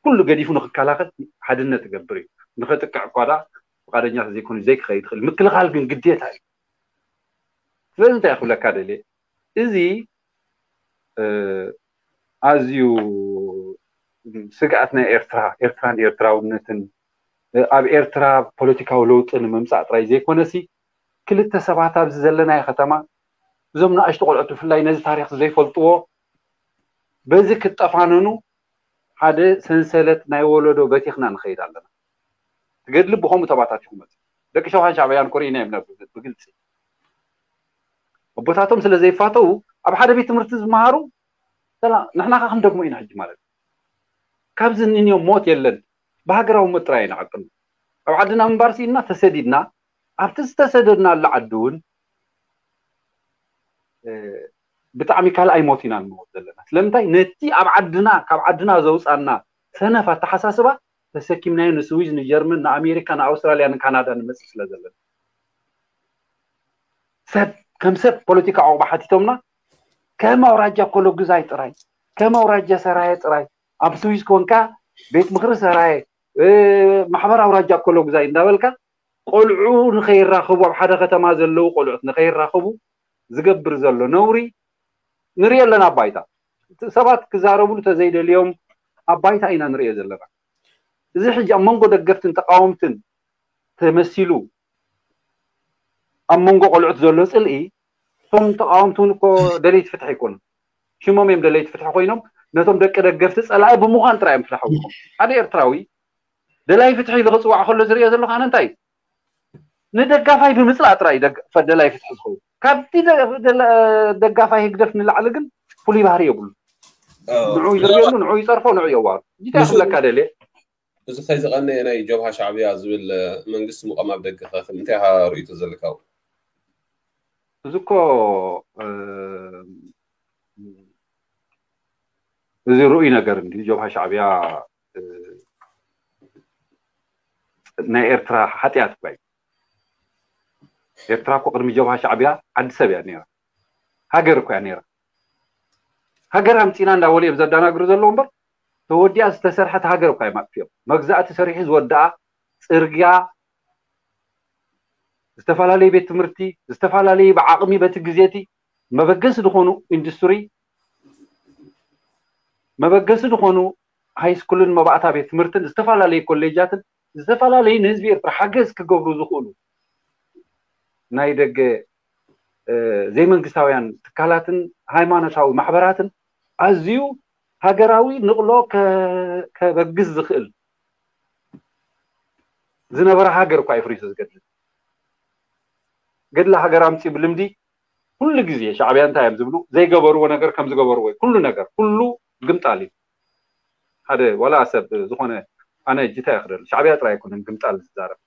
ኩሉ ገዲፉ ንክከላኸል ሓድነት ይገብር እዩ። ንኸጥቅዕ እኳ ደኣ ፍቃደኛ ዘይኮኑ ዘይክኸይድ ይኽእል። ምክልኻል ግን ግዴታ እዩ። ስለዚ እንታይ ክብለካ ደልየ እዚ ኣዝዩ ስግኣት ናይ ኤርትራ፣ ኤርትራን ኤርትራውነትን፣ ኣብ ኤርትራ ፖለቲካዊ ለውጢ ንምምጻእ ጥራይ ዘይኮነሲ፣ ክልተ ሰባት ኣብዚ ዘለናዮ ከተማ፣ እዞም ንኣሽቱ ቆልዑት ብፍላይ ነዚ ታሪኽ ዘይፈልጥዎ፣ በዚ ክጠፋነኑ ሓደ ሰንሰለት ናይ ወለዶ በቲኽና ንኸይድ ኣለና። ትገድሊ ብኸምኡ ተባታቲኹ መጽእ። ደቂ ሸውሃን ሻዕብያን ኮሪና እዮም ነብ-፣ ብግልጺ። ኣቦታቶም ስለ ዘይፋተው ኣብ ሓደ ቤት ትምህርቲ ዝመሃሩ፣ ሰላ-፣ ንሕና ከ ክንደግሞ ኢና ሕጂ ማለት እዩ። ካብዚ እንንዮ ሞት የለን። ብሃገራዊ ሞት ጥራይ ኢና ዓቅሉ። ኣብ ዓድና ምንባር ስኢንና ተሰዲድና፣ ኣብቲ ዝተሰደድናሉ ዓዲ እውን፣ እ፣ ብጣዕሚ ካልኣይ ሞት ኢና ንመውት ዘለና። ስለምንታይ? ነቲ ኣብ ዓድና፣ ካብ ዓድና ዘውጻና ሰነፍ ኣተሓሳስባ ተሰኪምናዮ ንስዊዝ፣ ንጀርመን፣ ንኣሜሪካ፣ ንኣውስትራልያ፣ ንካናዳ ንመጽእ ስለ ዘለና። ሰብ፣ ከም ሰብ ፖለቲካ ዕቑባ ሓቲቶምና፣ ከም ኣውራጃ ኮሎግዛይ ጥራይ፣ ከም ኣውራጃ ሰራየ ጥራይ፣ ኣብ ስዊዝ ኮንካ ቤት ምኽሪ ሰራየ፣ እ፣ ማሕበር ኣውራጃ ኮሎግዛይ እንዳበልካ፣ ቆልዑ ንኸይራኸቡ፣ ኣብ ሓደ ከተማ ዘለዉ ቆልዑት ንኸይራኸቡ ዝገብር ዘሎ ነውሪ ንሪኦ ኣለና ኣብ ባይታ። ሰባት ክዛረብሉ ተዘይደልዮም ኣብ ባይታ ኢና ንሪኦ ዘለና። እዚ ሕጂ ኣብ መንጎ ደገፍትን ተቃወምትን ተመሲሉ ኣብ መንጎ ቆልዑት ዘሎ ጽልኢ፣ እቶም ተቃወምቲ እውን እኮ ደለይቲ ፍትሒ ኣይኮኑን። ሽሞም እዮም ደለይቲ ፍትሒ ኮይኖም፣ ነቶም ደቂ ደገፍቲ ጸላኢ ብምዃን ጥራይ እዮም ፍትሓዊ ዝኾኑ። ሓደ ኤርትራዊ ደላይ ፍትሒ ኢሉ ክጽዋዕ ከሎ ዝሪኦ ዘለኹ ኣነ እንታይ እዩ? ንደጋፋይ ብምጽላእ ጥራይ ደግ-፣ ፈ-፣ ደላይ ፍትሒ ዝኸውን። ካብቲ ደ-፣ ደላ-፣ ደጋፋይ ህግደፍ ንላዕሊ ግን ፍሉይ ባህሪ የብሉ። ንዑ ይዝርየሉ፣ ንዑ ይጸርፎ፣ ንዑ የዋሩ። እንታይ ንሱ ክብለካ ደልየ? እዚ ከይዚ ቀነየ ናይ ጀብሃ ሻዕብያ ዝብል፣ እ፣ መንግስቲ ምቋም ኣብ ደገ ከ እንታይ ኢኻ ርእይቶ ዘለካ? እዚ እኮ፣ እ፣ እዚ ርኡይ ነገር እንድዩ። ጀብሃ ሻዕብያ፣ እ፣ ናይ ኤርትራ ሓጢኣት እኳ እዩ። ኤርትራ እኮ ቅድሚ ጀብሃ ሻዕብያ ዓዲ ሰብ እያ ነይራ። ሃገር እኮ እያ ነይራ። ሃገር ኣምጺና እንዳበሉ እዮም ዘደናግሩ ዘለዉ እምበር፣ ተወዲኣ ዝተሰርሐት ሃገር እኳ እዮም ኣጥፊኦም። መግዛእቲ ሰሪሑ ዝወደኣ ጽርግያ፣ ዝተፈላለዩ ቤት ትምህርቲ፣ ዝተፈላለዩ ብዓቕሚ በቲ ግዜቲ መበገሲ ዝኾኑ ኢንዱስትሪ፣ መበገሲ ዝኾኑ ሃይስኩልን መባእታ ቤት ትምህርትን፣ ዝተፈላለዩ ኮሌጃትን፣ ዝተፈላለዩ ንህዝቢ ኤርትራ ሓገዝ ክገብሩ ዝኽእሉ ናይ ደገ፣ እ፣ ዘይመንግስታውያን ትካላትን ሃይማኖታዊ ማሕበራትን ኣዝዩ ሃገራዊ ንቕሎ ከ-፣ ከበግስ ዝኽእል ዝነበረ ሃገር እኳ እዩ ፍሪሱ ዝገድል። ገድሊ ሃገር ኣምጺኡ ብልምዲ ኩሉ ግዜ ሻዕብያ እንታይ እዮም ዝብሉ? ዘይገበርዎ ነገር ከም ዝገበርዎ እዩ። ኩሉ ነገር፣ ኩሉ ግምጣል እዩ። ሓደ ዋላ ሰብ ዝኾነ ኣነ ጅታ ይኽደል፣ ሻዕብያ ጥራይ ኣይኮነን ግምጣል ዝዛረብ።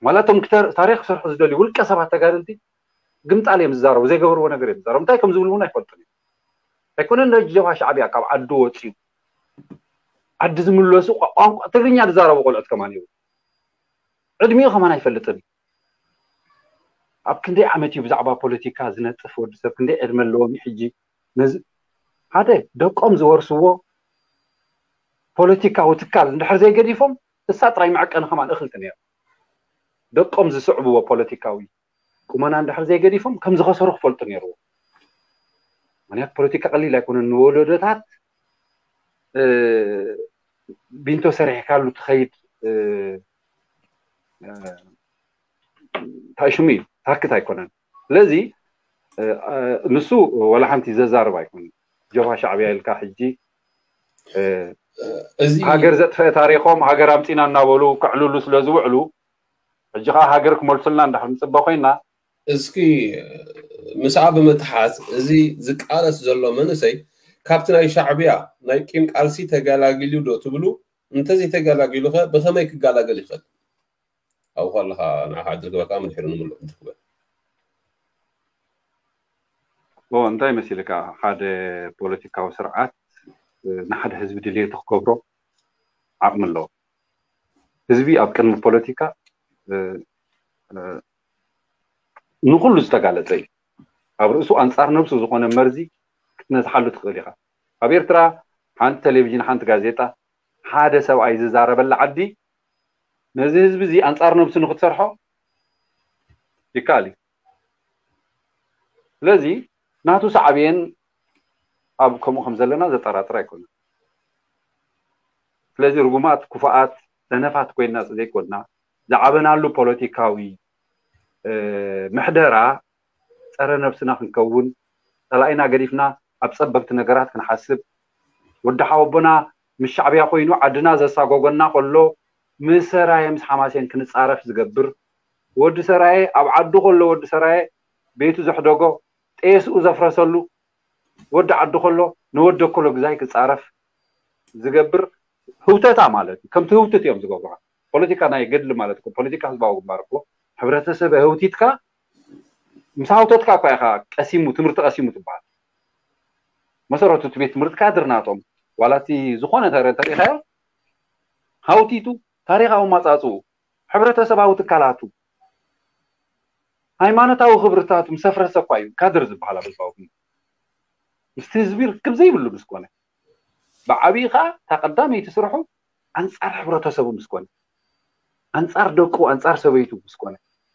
ዋላ እቶም ክተ-፣ ታሪኽ ክሰርሑ ዝደልዩ ውልቀ ሰባት ተጋደልቲ ግምጣል እዮም ዝዛረቡ፣ ዘይገበርዎ ነገር እዮም ዝዛረቡ። እንታይ ከም ዝብሉ እውን ኣይፈልጡን እዮም። ኣይኮነን ነጀብሃ ሻዕብያ ካብ ዓዱ ወፂኡ ዓዲ ዝምለሱ ቋ-፣ ቋንቋ ትግርኛ ዝዛረቡ ቆልዑት ከማን ይብሉ። ዕድሚኡ ከማን ኣይፈልጥን እዩ። ኣብ ክንደይ ዓመት እዩ ብዛዕባ ፖለቲካ ዝነጥፍ ወዲ ሰብ? ክንደይ ዕድመ ኣለዎም እዩ ሕጂ? ነዚ ሓደ ደቆም ዝወርስዎ ፖለቲካዊ ትካል እንድሕር ዘይገዲፎም እሳ ጥራይ መዐቀኒ ከማን እኽልቲ ነይሩ። ደቆም ዝስዕብዎ ፖለቲካዊ ቁመና እንድሕር ዘይገዲፎም ከም ዝኸሰሩ ክፈልጡ ነይርዎ። ምክንያቱ ፖለቲካ ቀሊል ኣይኮነን። ንወለዶታት፣ እ፣ ቢንቶ ሰሪሕካሉ ትኸይድ፣ እ፣ እ፣ እንታይ ሽሙ እዩ? ታክት ኣይኮነን። ስለዚ፣ እ፣ እ፣ ንሱ ወላ ሓንቲ ዘዛርብ ኣይኮነን። ጀብሃ ሻዕብያ ኢልካ ሕጂ፣ እ፣ እዚ ሃገር ዘጥፈአ ታሪኾም ሃገር ኣምጺና እናበሉ ከዕልሉ ስለ ዝውዕሉ፣ ሕጂ ኸዓ ሃገር ክመልሱልና እንዳሕር ንጽበ ኮይና። እስኪ ምስኣ ብምትሓዝ፣ እዚ ዝቃለስ ዘሎ መንእሰይ ካብቲ ናይ ሻዕብያ ናይ ቂም ቃልሲ ተገላጊሉ ዶ ትብሉ? እንተዘይተገላጊሉ ኸ ብኸመይ ክገላገል ይኽእል? ኣብኡ ከለኻ ንዓኻ ዕድል ክበካ ምድሕሪ ንምሉእ እንትክበል። ኦ፣ እንታይ መሲልካ? ሓደ ፖለቲካዊ ስርዓት፣ እ፣ ንሓደ ህዝቢ ድልየቱ ክገብሮ ዓቕሚ ኣለዎ። ህዝቢ ኣብ ቅድሚ ፖለቲካ፣ እ፣ እ፣ ንኹሉ ዝተጋለጸ እዩ። ኣብ ርእሱ ኣንጻር ነብሱ ዝኾነ መርዚ ክትነዝሓሉ ትኽእል ኢኻ። ኣብ ኤርትራ ሓንቲ ቴሌቪዥን፣ ሓንቲ ጋዜጣ፣ ሓደ ሰብኣይ ዝዛረበላ ዓዲ፣ ነዚ ህዝቢ እዚ ኣንጻር ነብሱ ንክትሰርሖ ይከኣል እዩ። ስለዚ ናቱ ሳዕቤን ኣብ ከምኡ ከም ዘለና ዘጠራጥር ኣይኮነን። ስለዚ ርጉማት፣ ክፉኣት፣ ሰነፋት ኮይንና ዘይኮንና፣ ዝዓበናሉ ፖለቲካዊ ምሕደራ ጸረ ነብስና ክንከውን፣ ጸላኢና ገዲፍና ኣብ ጸበብቲ ነገራት ክንሓስብ፣ ወዲ ሓወቦና ምስ ሻዕብያ ኮይኑ ዓድና ዘሳጎጎና ከሎ፣ ምስ ሰራየ ምስ ሓማሴን ክንጻረፍ ዝገብር፣ ወዲ ሰራየ ኣብ ዓዱ ከሎ፣ ወዲ ሰራየ ቤቱ ዘሕደጎ፣ ጤስኡ ዘፍረሰሉ፣ ወዲ ዓዱ ከሎ ንወዲ ከሎ ግዛይ ክጻረፍ ዝገብር ህውተታ ማለት እዩ። ከምቲ ህውትት እዮም ዝገብሩኻ። ፖለቲካ ናይ ገድሊ ማለት እኮ፣ ፖለቲካ ህዝባዊ ግንባር እኮ፣ ሕብረተሰብ ህውቲትካ፣ ምስ ሃውተትካ እኳ ኢኻ ቀሲሙ፣ ትምህርቲ ቀሲሙ ትበሃል። መሰረቱ እቲ ቤት ትምህርቲ ካድር ናቶም፣ ዋላ እቲ ዝኾነ ተረ-፣ ተሪኻዮ፣ ሃውቲቱ፣ ታሪኻዊ ማጻጽኡ፣ ሕብረተሰባዊ ትካላቱ፣ ሃይማኖታዊ ክብርታቱ ምስ ኣፍረሰ እኳ እዩ ካድር ዝበሃል ኣብ ህዝባዊ ግንባር። ምስቲ ህዝቢ ርክብ ዘይብሉ ምስ ኮነ፣ ብዓብዪ ኸዓ እታ ቀዳመይቲ ስርሑ ኣንጻር ሕብረተሰቡ ምስ ኮነ፣ ኣንጻር ደቁ፣ ኣንጻር ሰበይቱ ምስ ኮነ፣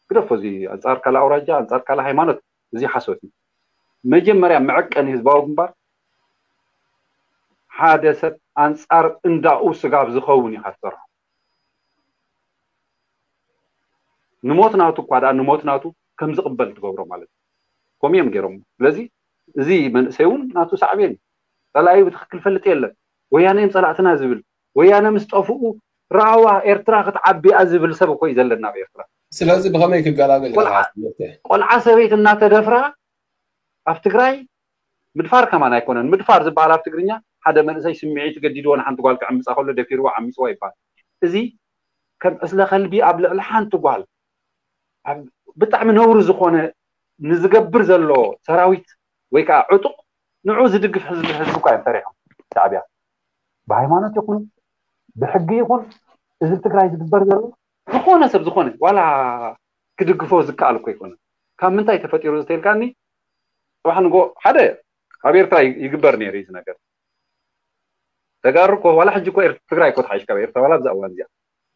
ግደፎ፣ እዚ ኣንጻር ካልእ ኣውራጃ፣ ኣንጻር ካልእ ሃይማኖት፣ እዚ ሓሶት እዩ። መጀመርያ መዐቀኒ ህዝባዊ ግንባር ሓደ ሰብ ኣንጻር እንዳኡ ስጋብ ዝኸውን ኢኻ ትሰርሖ። ንሞት ናቱ እኳ ደኣ ንሞት ናቱ ከም ዝቕበል ትገብሮ ማለት እዩ። ከምኡ እዮም ገይሮም። ስለዚ እዚ መንእሰይ እውን ናቱ ሳዕቤን እዩ። ጸላኢ ብትኽክል ፈልጥ የለን። ወያነ እዮም ጸላእትና ዝብል፣ ወያነ ምስ ጠፍኡ ራዋ ኤርትራ ክትዓቢ እያ ዝብል ሰብ እኮ እዩ ዘለና ኣብ ኤርትራ። ስለዚ ብኸመይ ክገላገል ኢኻ ቆልዓ፣ ትምህርቲ? ቆልዓ ሰበይቲ እናተደፍራ ኣብ ትግራይ ምድፋር ከማን ኣይኮነን። ምድፋር ዝበሃል ኣብ ትግርኛ ሓደ መንእሰይ ስምዒት ገዲድዎ ንሓንቲ ጓል ክዕምጻ ከሎ ደፊርዎ ዓሚጽዎ ይበሃል። እዚ ከም ዕስለ ከልቢ ኣብ ልዕሊ ሓንቲ ጓል ኣብ ብጣዕሚ ነውሪ ዝኾነ ንዝገብር ዘሎ ሰራዊት ወይ ከዓ ዕጡቕ ንዑ ዝድግፍ ህዝቢ፣ ህዝቢ እኳ እዮም ሰሪሖም ሻዕብያ። ብሃይማኖት ይኹን ብሕጊ ይኹን እዚ ትግራይ ዝግበር ዘሎ ዝኾነ ሰብ ዝኾነ ዋላ ክድግፎ ዝከኣል እኮ ኣይኮነን። ካብ ምንታይ ተፈጢሩ ዝተልካኒ? ጽባሕ ንጎ ሓደ ኣብ ኤርትራ ይ-፣ ይግበር ነይሩ እዩ እዚ ነገር። ተጋሩ እኮ ዋላ ሕጂ እኮ ኤር-፣ ትግራይ እኮ ተሓይሽ ካብ ኤርትራ ዋላ ኣብዛ እዋን እዚኣ።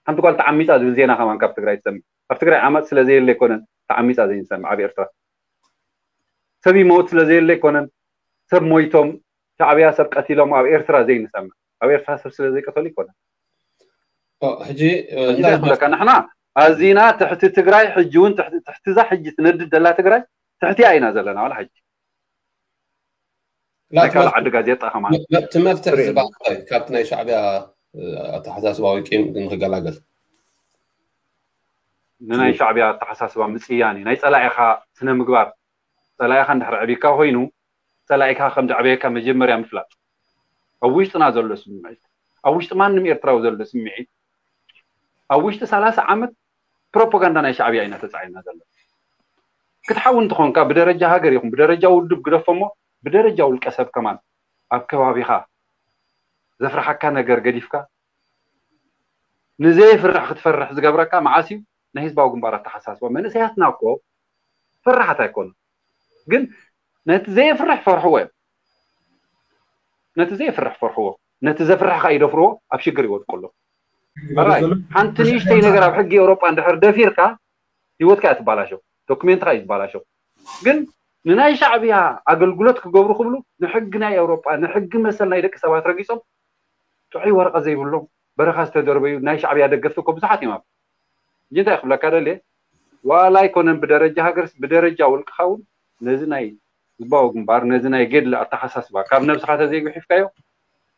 ሓንቲ ጓል ተዓሚጻ ዝብል ዜና ከማን ካብ ትግራይ ትሰምዕ። ኣብ ትግራይ ዓመጽ ስለ ዘየለ ኣይኮነን ተዓሚጻ ዘይንሰምዕ ኣብ ኤርትራ። ሰብ ይመውት ስለ ዘየለ ኣይኮነን ሰብ ሞይቶም ሻዕብያ ሰብ ቀቲሎም ኣብ ኤርትራ ዘይንሰምዕ። ኣብ ኤርትራ ሰብ ስለ ዘይቀተሉ ኣይኮነን። ኦ፣ ሕጂ፣ እ፣ ሕጂ እንታይ እንታይ ክብለካ፣ ንሕና ኣዚና ትሕቲ ትግራይ ሕጂ እውን ትሕቲ፣ ትሕቲ እዛ ሕጂ ትነድድ ዘላ ትግራይ ትሕቲኣ ኢና ዘለና ዋላ ሕጂ። ላ ናይ ካልእ ትመፍ-፣ ዓዲ ጋዜጣ ከማን መ-፣ መ-፣ እቲ መፍትሒ ትርኢ። ዝበሃል እንታይ? ካብቲ ናይ ሻዕብያ፣ እ፣ ኣተሓሳስባ ወይ ቂም ንክገላገል። ንናይ ሻዕብያ ኣተሓሳስባ ምጽያን እዩ። ናይ ጸላኢኻ ስነ ምግባር፣ ጸላኢኻ እንድሕር ዕቢካ ኮይኑ፣ ጸላኢኻ ከም ዘዕበየካ መጀመርያ ምፍላጥ። ኣብ ውሽጥና ዘሎ ስምዒት፣ ኣብ ውሽጢ ማንም ኤርትራዊ ዘሎ ስምዒት፣ ኣብ ውሽጢ ሰላሳ ዓመት ፕሮፓጋንዳ ናይ ሻዕብያ ኢና ተጻዒና ዘሎ። ክትሓዊ እንተኾንካ ብደረጃ ሃገር ይኹን ብደረጃ ውድብ ግደፎ እሞ ብደረጃ ውልቀ ሰብ ከማን ኣብ ከባቢኻ ዘፍርሓካ ነገር ገዲፍካ ንዘየፍርሕ ክትፈርሕ ዝገብረካ መዓስ እዩ? ናይ ህዝባዊ ግንባር ኣተሓሳስባ። መንእሰያትና እኮ ፈራሓት ኣይኮኑ፣ ግን ነቲ ዘየፍርሕ ፈርሕዎ እዮም። ነቲ ዘየፍርሕ ፈርሕዎ፣ ነቲ ዘፍርሕ ከኣ ይደፍርዎ፣ ኣብ ሽግር ይወድቁ ኣለዉ። ራይ፣ ሓንቲ ንእሽተይ ነገር ኣብ ሕጊ ኤውሮጳ እንድሕር ደፊርካ ህይወትካ እያ ትባላሸው፣ ዶክሜንትካ እዩ ዝበላሸው። ግን ንናይ ሻዕብያ ኣገልግሎት ክገብሩ ክብሉ ንሕጊ ናይ ኤውሮጳ፣ ንሕጊ መሰል ናይ ደቂ ሰባት ረጊጾም ጥዑይ ወረቐት ዘይብሎም በረኻ ዝተደርበዩ ናይ ሻዕብያ ደገፍቲ እኮ ብዙሓት እዮም። ኣብ ሕጂ እንታይ ክብለካ ደልየ፣ ዋላ ኣይኮነን ብደረጃ ሃገርስ ብደረጃ ውልቅኻ እውን ነዚ ናይ ህዝባዊ ግንባር ነዚ ናይ ገድሊ ኣተሓሳስባ ካብ ነብስኻ ተዘይጉሒፍካዮ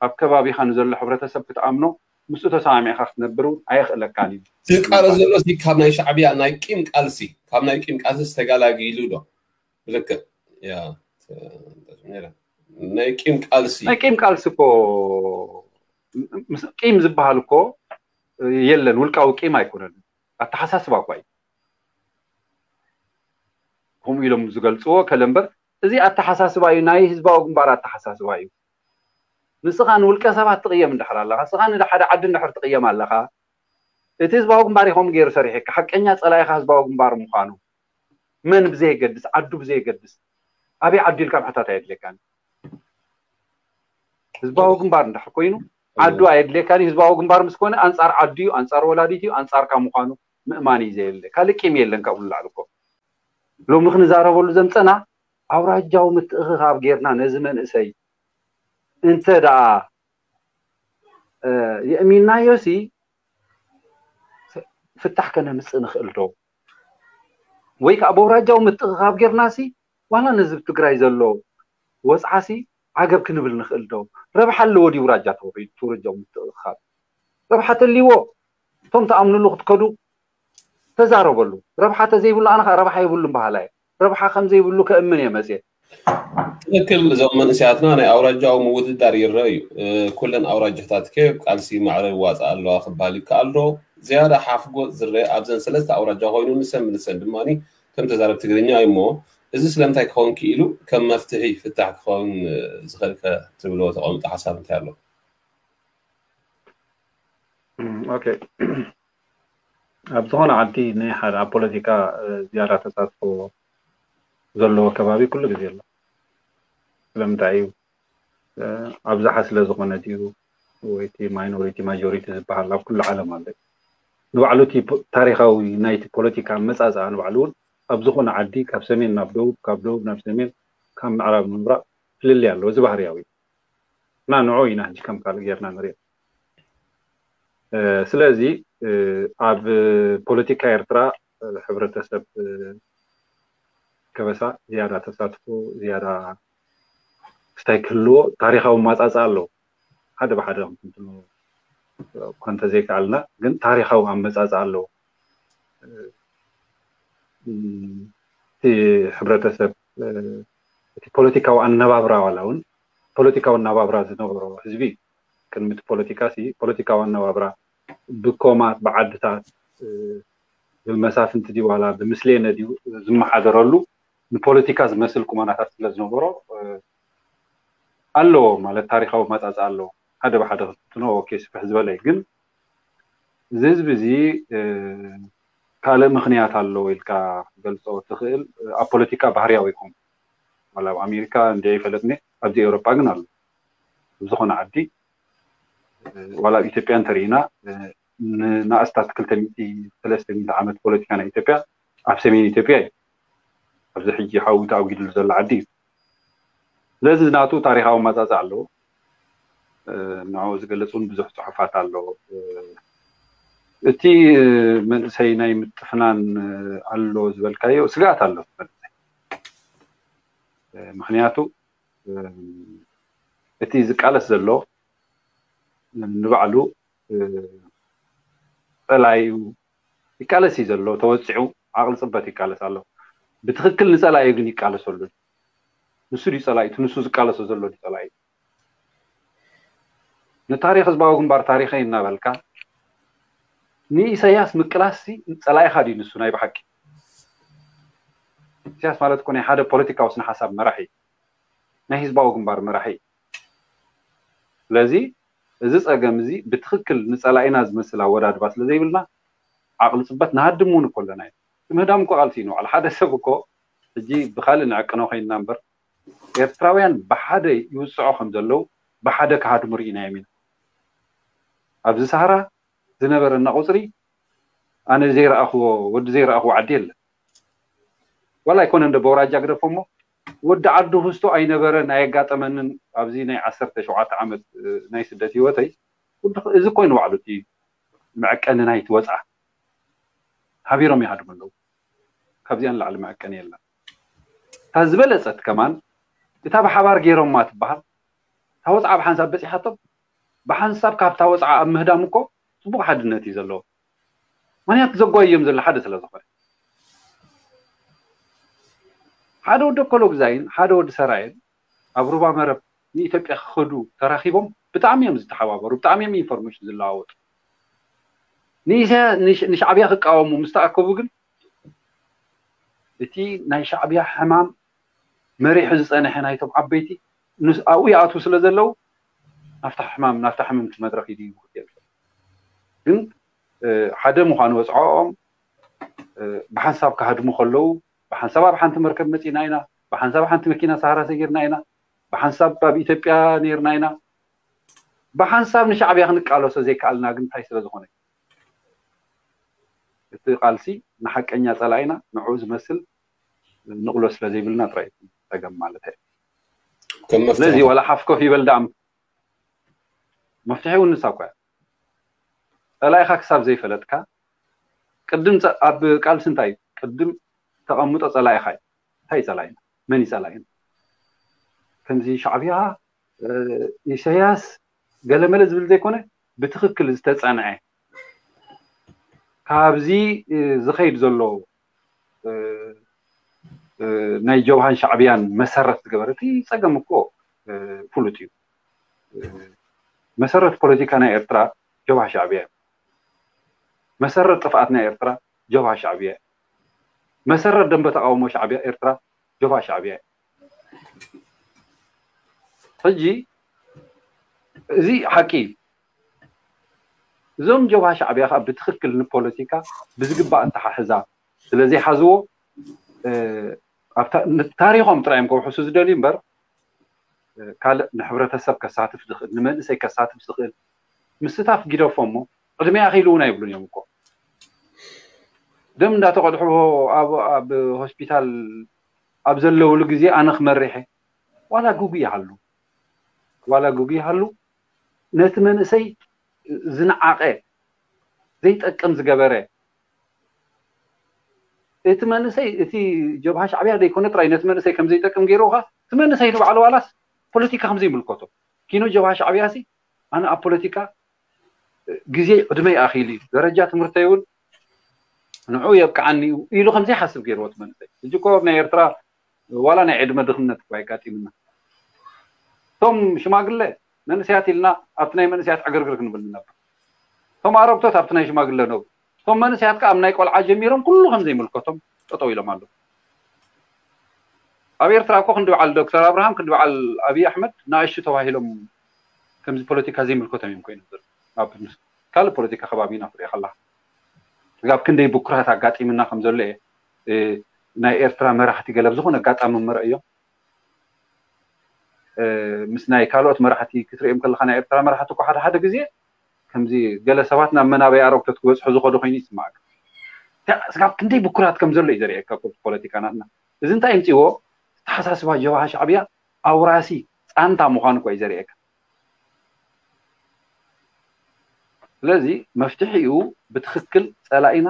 ኣብ ከባቢኻ ንዘሎ ሕብረተሰብ ክትኣምኖ ምስኡ ተሰማሚዕካ ክትነብር እውን ኣየኽእለካን እዩ። ዝቃለስ ዘሎ ሲ ካብ ናይ ሻዕብያ ናይ ቂም ቃልሲ፣ ካብ ናይ ቂም ቃልሲ ተጋላጊሉ ዶ? ብልክዕ፣ ያ፣ ተ-፣ ናይ ቂም ቃልሲ። ናይ ቂም ቃልሲ እኮ፣ ምስ ቂም ዝበሃል እኮ የለን፣ ውልቃዊ ቂም ኣይኮነን፣ ኣተሓሳስባ እኳ እዩ። ከምኡ ኢሎም ዝገልጽዎ ከለ እምበር፣ እዚ ኣተሓሳስባ እዩ፣ ናይ ህዝባዊ ግንባር ኣተሓሳስባ እዩ። ንስኻ ንውልቀ ሰባት ትቕየም እንድሕር ኣለኻ፣ ንስኻ ንሓደ ዓዲ እንድሕር ትቕየም ኣለኻ፣ እቲ ህዝባዊ ግንባር እዩ ከምኡ ገይሩ ሰሪሑካ፣ ሓቀኛ ጸላኢኻ ህዝባዊ ግንባር ምዃኑ፣ መን ብዘየገድስ፣ ዓዱ ብዘየገድስ፣ ኣበይ ዓዲ ኢልካ ምሕታት ኣየድልየካን። ህዝባዊ ግንባር እንድሕር ኮይኑ፣ ዓዱ ኣየድልየካን እዩ። ህዝባዊ ግንባር ምስ ኮነ፣ ኣንጻር ዓዱ እዩ፣ ኣንጻር ወላዲት እዩ፣ ኣንጻርካ ምዃኑ ምእማን እዩ ዘየለ። ካልእ ቂም የለን ካብኡ ንላዕሊ እኮ። ሎሚ ክንዛረበሉ ዘምጸና፣ ኣውራጃዊ ምትእኽኻብ ጌርና ነዚ መንእሰይ እንተ ደኣ የእሚንናዮ ሲ ፍታሕ ከነምፅእ ንኽእል ዶ? ወይ ከዓ በውራጃዊ ምትእኻብ ጌርና ሲ ዋላ ነዚ ትግራይ ዘሎ ወፅዓ ሲ ዓገብ ክንብል ንኽእል ዶ? ረብሓ ኣለዎ ድዩ ውራጃ ተውራጃዊ ምትእኻብ? ረብሓ ተልይዎ እቶም ተኣምንሉ ክትከዱ ተዛረበሉ። ረብሓ ተዘይብሉ ኣነ ከዓ ረብሓ የብሉን በሃላ እየ። ረብሓ ከም ዘይብሉ ከእምን እየ መፅየ። ትክክል። እዞም መንእሰያትና ናይ ኣውራጃዊ ምውድዳር ይረአ እዩ። ኩለን ኣውራጃታት ከ ቃልሲ ማዕረ ይዋፃ ኣለዋ ክበሃል ይከኣል ዶ? ዝያዳ ሓፍጎ ዝረአ ኣብዘን ሰለስተ ኣውራጃ ኮይኑ ንሰን ብንሰን ድማ ከም ተዛረብ ትግርኛ እዩ እሞ እዚ ስለምንታይ ክኸውን ክኢሉ ከም መፍትሒ ፍታሕ ክኸውን ዝኽእል ከ ትብልዎ ተቐምጦ ሓሳብ እንታይ ኣሎ? ኦኬ ኣብ ዝኾነ ዓዲ ናይ ሓደ ኣብ ፖለቲካ ዝያዳ ተሳትፎ ዘለዎ ከባቢ ኩሉ ግዜ ኣሎ። ስለምንታይ እዩ ኣብዝሓ ስለ ዝኾነ ድዩ ወይ እቲ ማይኖሪቲ ማጆሪቲ ዝበሃል ኣብ ኩሉ ዓለም ኣሎ። ንባዕሉ እቲ ታሪኻዊ ናይቲ ፖለቲካ ኣመፃፅኣ ንባዕሉ እውን ኣብ ዝኾነ ዓዲ ካብ ሰሜን ናብ ደቡብ ካብ ደቡብ ናብ ሰሜን ካብ ምዕራብ ምብራቕ ፍልልይ ኣለዎ። እዚ ባህርያዊ እና ንዑ ኢና ሕጂ ከም ካልእ ጌርና ንሪኦ። ስለዚ ኣብ ፖለቲካ ኤርትራ ሕብረተሰብ ከበሳ ዝያዳ ተሳትፎ ዝያዳ ክስታይ ክህልዎ ታሪኻዊ ማፃፃ ኣለዎ። ሓደ ብሓደ ክንትንትኖ እኳ እንተዘይከኣልና ግን ታሪኻዊ ኣመፃፃ ኣለዎ። እቲ ሕብረተሰብ እቲ ፖለቲካዊ ኣነባብራ ዋላ እውን ፖለቲካዊ ኣነባብራ ዝነበሮ ህዝቢ ቅድሚ እቲ ፖለቲካ ሲ ፖለቲካዊ ኣነባብራ ብኮማት ብዓድታት ብመሳፍንቲ ድዩ ዋላ ብምስሌነ ድዩ ዝመሓደረሉ ንፖለቲካ ዝመስል ቁመናታት ስለ ዝነበሮ ኣለዎ ማለት ታሪካዊ ኣመፃፅኣ ኣለዎ። ሓደ ብሓደ ክትትኖ ኦኬ ስፍሕ ዝበለ እዩ ግን እዚ ህዝቢ እዚ ካልእ ምኽንያት ኣለዎ ኢልካ ክትገልፆ ትኽእል። ኣብ ፖለቲካ ባህርያዊ ይኹን ዋላ ኣብ ኣሜሪካ እንዲ ይፈለጥኒ ኣብዚ ኤውሮጳ ግን ኣሎ ኣብ ዝኾነ ዓዲ ዋላ ኣብ ኢትዮጵያ እንተርኢና ንኣስታት ክልተ ሚእቲ ሰለስተ ሚእቲ ዓመት ፖለቲካ ናይ ኢትዮጵያ ኣብ ሰሜን ኢትዮጵያ እዩ። ኣብዚ ሕጂ ሓዊ ተኣጒድሉ ዘሎ ዓዲ እዩ። ስለዚ ናቱ ታሪኻዊ ኣመፃፅኣ ኣለዎ። ንዕኡ ዝገልፅ እውን ብዙሕ ፅሑፋት ኣለዎ። እቲ መንእሰይ ናይ ምጥፍናን ኣሎ ዝበልካዮ ስግኣት ኣሎ እቲ መንእሰይ። ምኽንያቱ እቲ ዝቃለስ ዘሎ ንባዕሉ ፀላኢኡ ይቃለስ እዩ ዘሎ ተወፂዑ ዓቕሊ ፅበት ይቃለስ ኣሎ። ብትኽክል ንፀላኢኡ ግን ይቃለሰሉ። ንሱ ድዩ ፀላኢ? እቲ ንሱ ዝቃለሶ ዘሎ ድዩ ፀላኢ? ንታሪኽ ህዝባዊ ግንባር ታሪኸይ እናበልካ ንኢሳያስ ምቅላስ ሲ ፀላኢኻ ድዩ ንሱ ናይ ብሓቂ? ኢሳያስ ማለት እኮ ናይ ሓደ ፖለቲካዊ ስነ ሓሳብ መራሒ ናይ ህዝባዊ ግንባር መራሒ እዩ። ስለዚ እዚ ፀገም እዚ ብትኽክል ንፀላኢና ዝመስል ኣወዳድባ ስለ ዘይብልና ዓቕሊ ፅበት ንሃድም እውን እኮ ኣለና እዩ። ምህዳም እኮ ቃልሲ እዩ ንባዕሉ ሓደ ሰብ እኮ ሕጂ ብካልእ ንዕቅኖ ኮይንና እምበር ኤርትራውያን ብሓደ ይውፅዖ ከም ዘለዉ ብሓደ ክሃድሙ ርኢናዮም ኢና። ኣብዚ ሰሃራ ዝነበረና ቁፅሪ ኣነ ዘይረኣኽዎ ወዲ ዘይረኣኽዎ ዓዲ የለን። ዋላ ኣይኮነ እንደ በውራጃ ግደፎ እሞ ወዲ ዓዱ ህዝቶ ኣይነበረን ኣየጋጠመንን ኣብዚ ናይ ዓሰርተ ሸውዓተ ዓመት ናይ ስደት ህይወተይ እዚ ኮይኑ ባዕሉ እቲ መዕቀኒ ናይቲ ወፅዓ ሓቢሮም ይሃድሙ ኣለዉ። ካብዚኣን ላዕሊ መዕቀኒ የለን። እታ ዝበለፀት ከማን እታ ብሓባር ገይሮማ ትበሃል እታ ወፅዓ ብሓንሳብ በፂሓቶም ብሓንሳብ ካብታ ወፅዓ ኣብ ምህዳም እኮ ፅቡቕ ሓድነት እዩ ዘለዎ። ምክንያቱ ዘጓዮም ዘሎ ሓደ ስለ ዝኾነ ሓደ ወዲ ኮሎግዛይን ሓደ ወዲ ሰራየን ኣብ ሩባ መረብ ንኢትዮጵያ ክኸዱ ተራኺቦም ብጣዕሚ እዮም ዝተሓባበሩ፣ ብጣዕሚ እዮም ኢንፎርሜሽን ዝለዋወጡ። ንሻዕብያ ክቃወሙ ምስ ተኣከቡ ግን እቲ ናይ ሻዕብያ ሕማም መሪሑ ዝፀንሐ ናይቶም ዓበይቲ ኣብኡ ይኣትዉ ስለ ዘለዉ ናፍታ ሕማም ናፍታ ሕምምቲ መድረክ ይድይቡ ግን ሓደ ምዃኑ ወፅዖኦም ብሓንሳብ ክሃድሙ ከለዉ ብሓንሳብ ኣብ ሓንቲ መርከብ መፂና ኢና፣ ብሓንሳብ ሓንቲ መኪና ሰሃራ ሰጊርና ኢና፣ ብሓንሳብ ኣብ ኢትዮጵያ ነይርና ኢና። ብሓንሳብ ንሻዕብያ ክንቃለሶ ዘይከኣልና ግን እንታይ ስለ ዝኾነ እቲ ቃልሲ ንሓቀኛ ፀላኢና ንዕኡ ዝመስል ንቕሎ ስለ ዘይብልና ጥራይ ጸገም ማለት እየ። ስለዚ ዋላ ሓፍ ኮፍ ይበል ደኣ መፍትሒ እውን ንሳ እኮ እያ። ጸላኢኻ ክሳብ ዘይፈለጥካ ቅድም ጸ- ኣብ ቃልሲ እንታይ እዩ? ቅድም ተቐምጦ ጸላኢኻ እዩ። እንታይ እዩ ጸላኢና? መን እዩ ጸላኢና? ከምዚ ሻዕብያ፣ ኢሰያስ፣ ገለመለ ዝብል ዘይኮነ፣ ብትኽክል ዝተጸንዐ፣ ካብዚ ዝኸይድ ዘሎ ናይ ጀብሃን ሻዕብያን መሰረት ዝገበረ፣ እቲ ጸገም እኮ ፍሉጥ እዩ። መሰረት ፖለቲካ ናይ ኤርትራ ጀብሃ ሻዕብያ እዩ። መሰረት ጥፍኣት ናይ ኤርትራ ጀብሃ ሻዕብያ እዩ። መሰረት ደንበ ተቃውሞ ሻዕብያ ኤርትራ ጀብሃ ሻዕብያ እዩ። ሕጂ እዚ ሓቂ እዩ። እዞም ጀብሃ ሻዕብያ ከዓ ብትኽክል ንፖለቲካ ብዝግባእ ኣተሓሕዛ ስለ ዘይሓዝዎ፣ እ፣ ኣብ ታ- ን- ታሪኾም ጥራይ እዮም ከውሕሱ ዝደልዩ እምበር፣ እ፣ ካልእ ንሕብረተሰብ ከሳትፍ ዝኽእል፣ ንመንእሰይ ከሳትፍ ዝኽእል ምስታፍ ጊደፎ እሞ ዕድመ ኣኺሉ እውን ኣይብሉን እዮም እኮ። ደም እንዳተቐድሑ ኣብ ኣብ ሆስፒታል ኣብ ዘለውሉ ግዜ ኣነ ክመርሕ ዋላ ጉጉ ይሃሉ ዋላ ጉጉ ይሃሉ ነቲ መንእሰይ ዝነዓቐ ዘይጠቅም ዝገበረ እቲ መንእሰይ እቲ ጀብሃ ሻዕብያ ዘይኮነ ጥራይ ነቲ መንእሰይ ከም ዘይጠቅም ገይሩ ኸዓ እቲ መንእሰይ ንባዕሉ ዋላስ ፖለቲካ ከም ዘይምልከቶ ኪኖ ጀብሃ ሻዕብያ ሲ ኣነ ኣብ ፖለቲካ ግዜ ዕድመይ ኣኺሉ እዩ ደረጃ ትምህርተይ እውን ንዑ የብቅዓኒ እዩ ኢሉ ከም ዘይሓስብ ገይርዎ እቲ መንእሰይ ሕጂ እኮ ኣብ ናይ ኤርትራ ዋላ ናይ ዕድመ ድኽነት እኮ ኣየጋጢምና እቶም ሽማግለ መንእሰያት ኢልና ኣብቲ ናይ መንእሰያት ዕግርግር ክንብል ንነብር እቶም ኣረግቶት ኣብቲ ናይ ሽማግለ ነብሩ እቶም መንእሰያት ከዓ ኣብ ናይ ቆልዓ ጀሚሮም ኩሉ ከም ዘይምልከቶም ጠጠው ኢሎም ኣለዉ ኣብ ኤርትራ እኮ ክንዲ በዓል ዶክተር ኣብርሃም ክንዲ በዓል ኣብይ ኣሕመድ ንኣሽቱ ተባሂሎም ከምዚ ፖለቲካ ዘይምልከቶም እዮም ኮይኖም ዘለዉ ኣብ ካልእ ፖለቲካ ከባቢ ኢና ክትሪኦ ከለካ ስጋብ ክንደይ ብኩራት ኣጋጢምና ከም ዘሎ እየ ናይ ኤርትራ መራሕቲ ገለ ብዝኾነ ኣጋጣሚ መረእዮም ምስ ናይ ካልኦት መራሕቲ ክትሪኦም ከለካ ናይ ኤርትራ መራሕቲ እኮ ሓደ ሓደ ግዜ ከምዚ ገለ ሰባት ናብ መናበይ ኣረግቶት ክበፅሑ ዝኸዱ ኮይኑ ይስማዓካ ስጋብ ክንደይ ብኩራት ከም ዘሎ እዩ ዘርእየካ ፖለቲካ ናትና እዚ እንታይ ይምፅዎ ተሓሳስባ ጀብሃ ሻዕብያ ኣውራሲ ፃንታ ምዃኑ እኮ እዩ ዘርእየካ ስለዚ መፍትሒኡ ብትኽክል ፀላኢና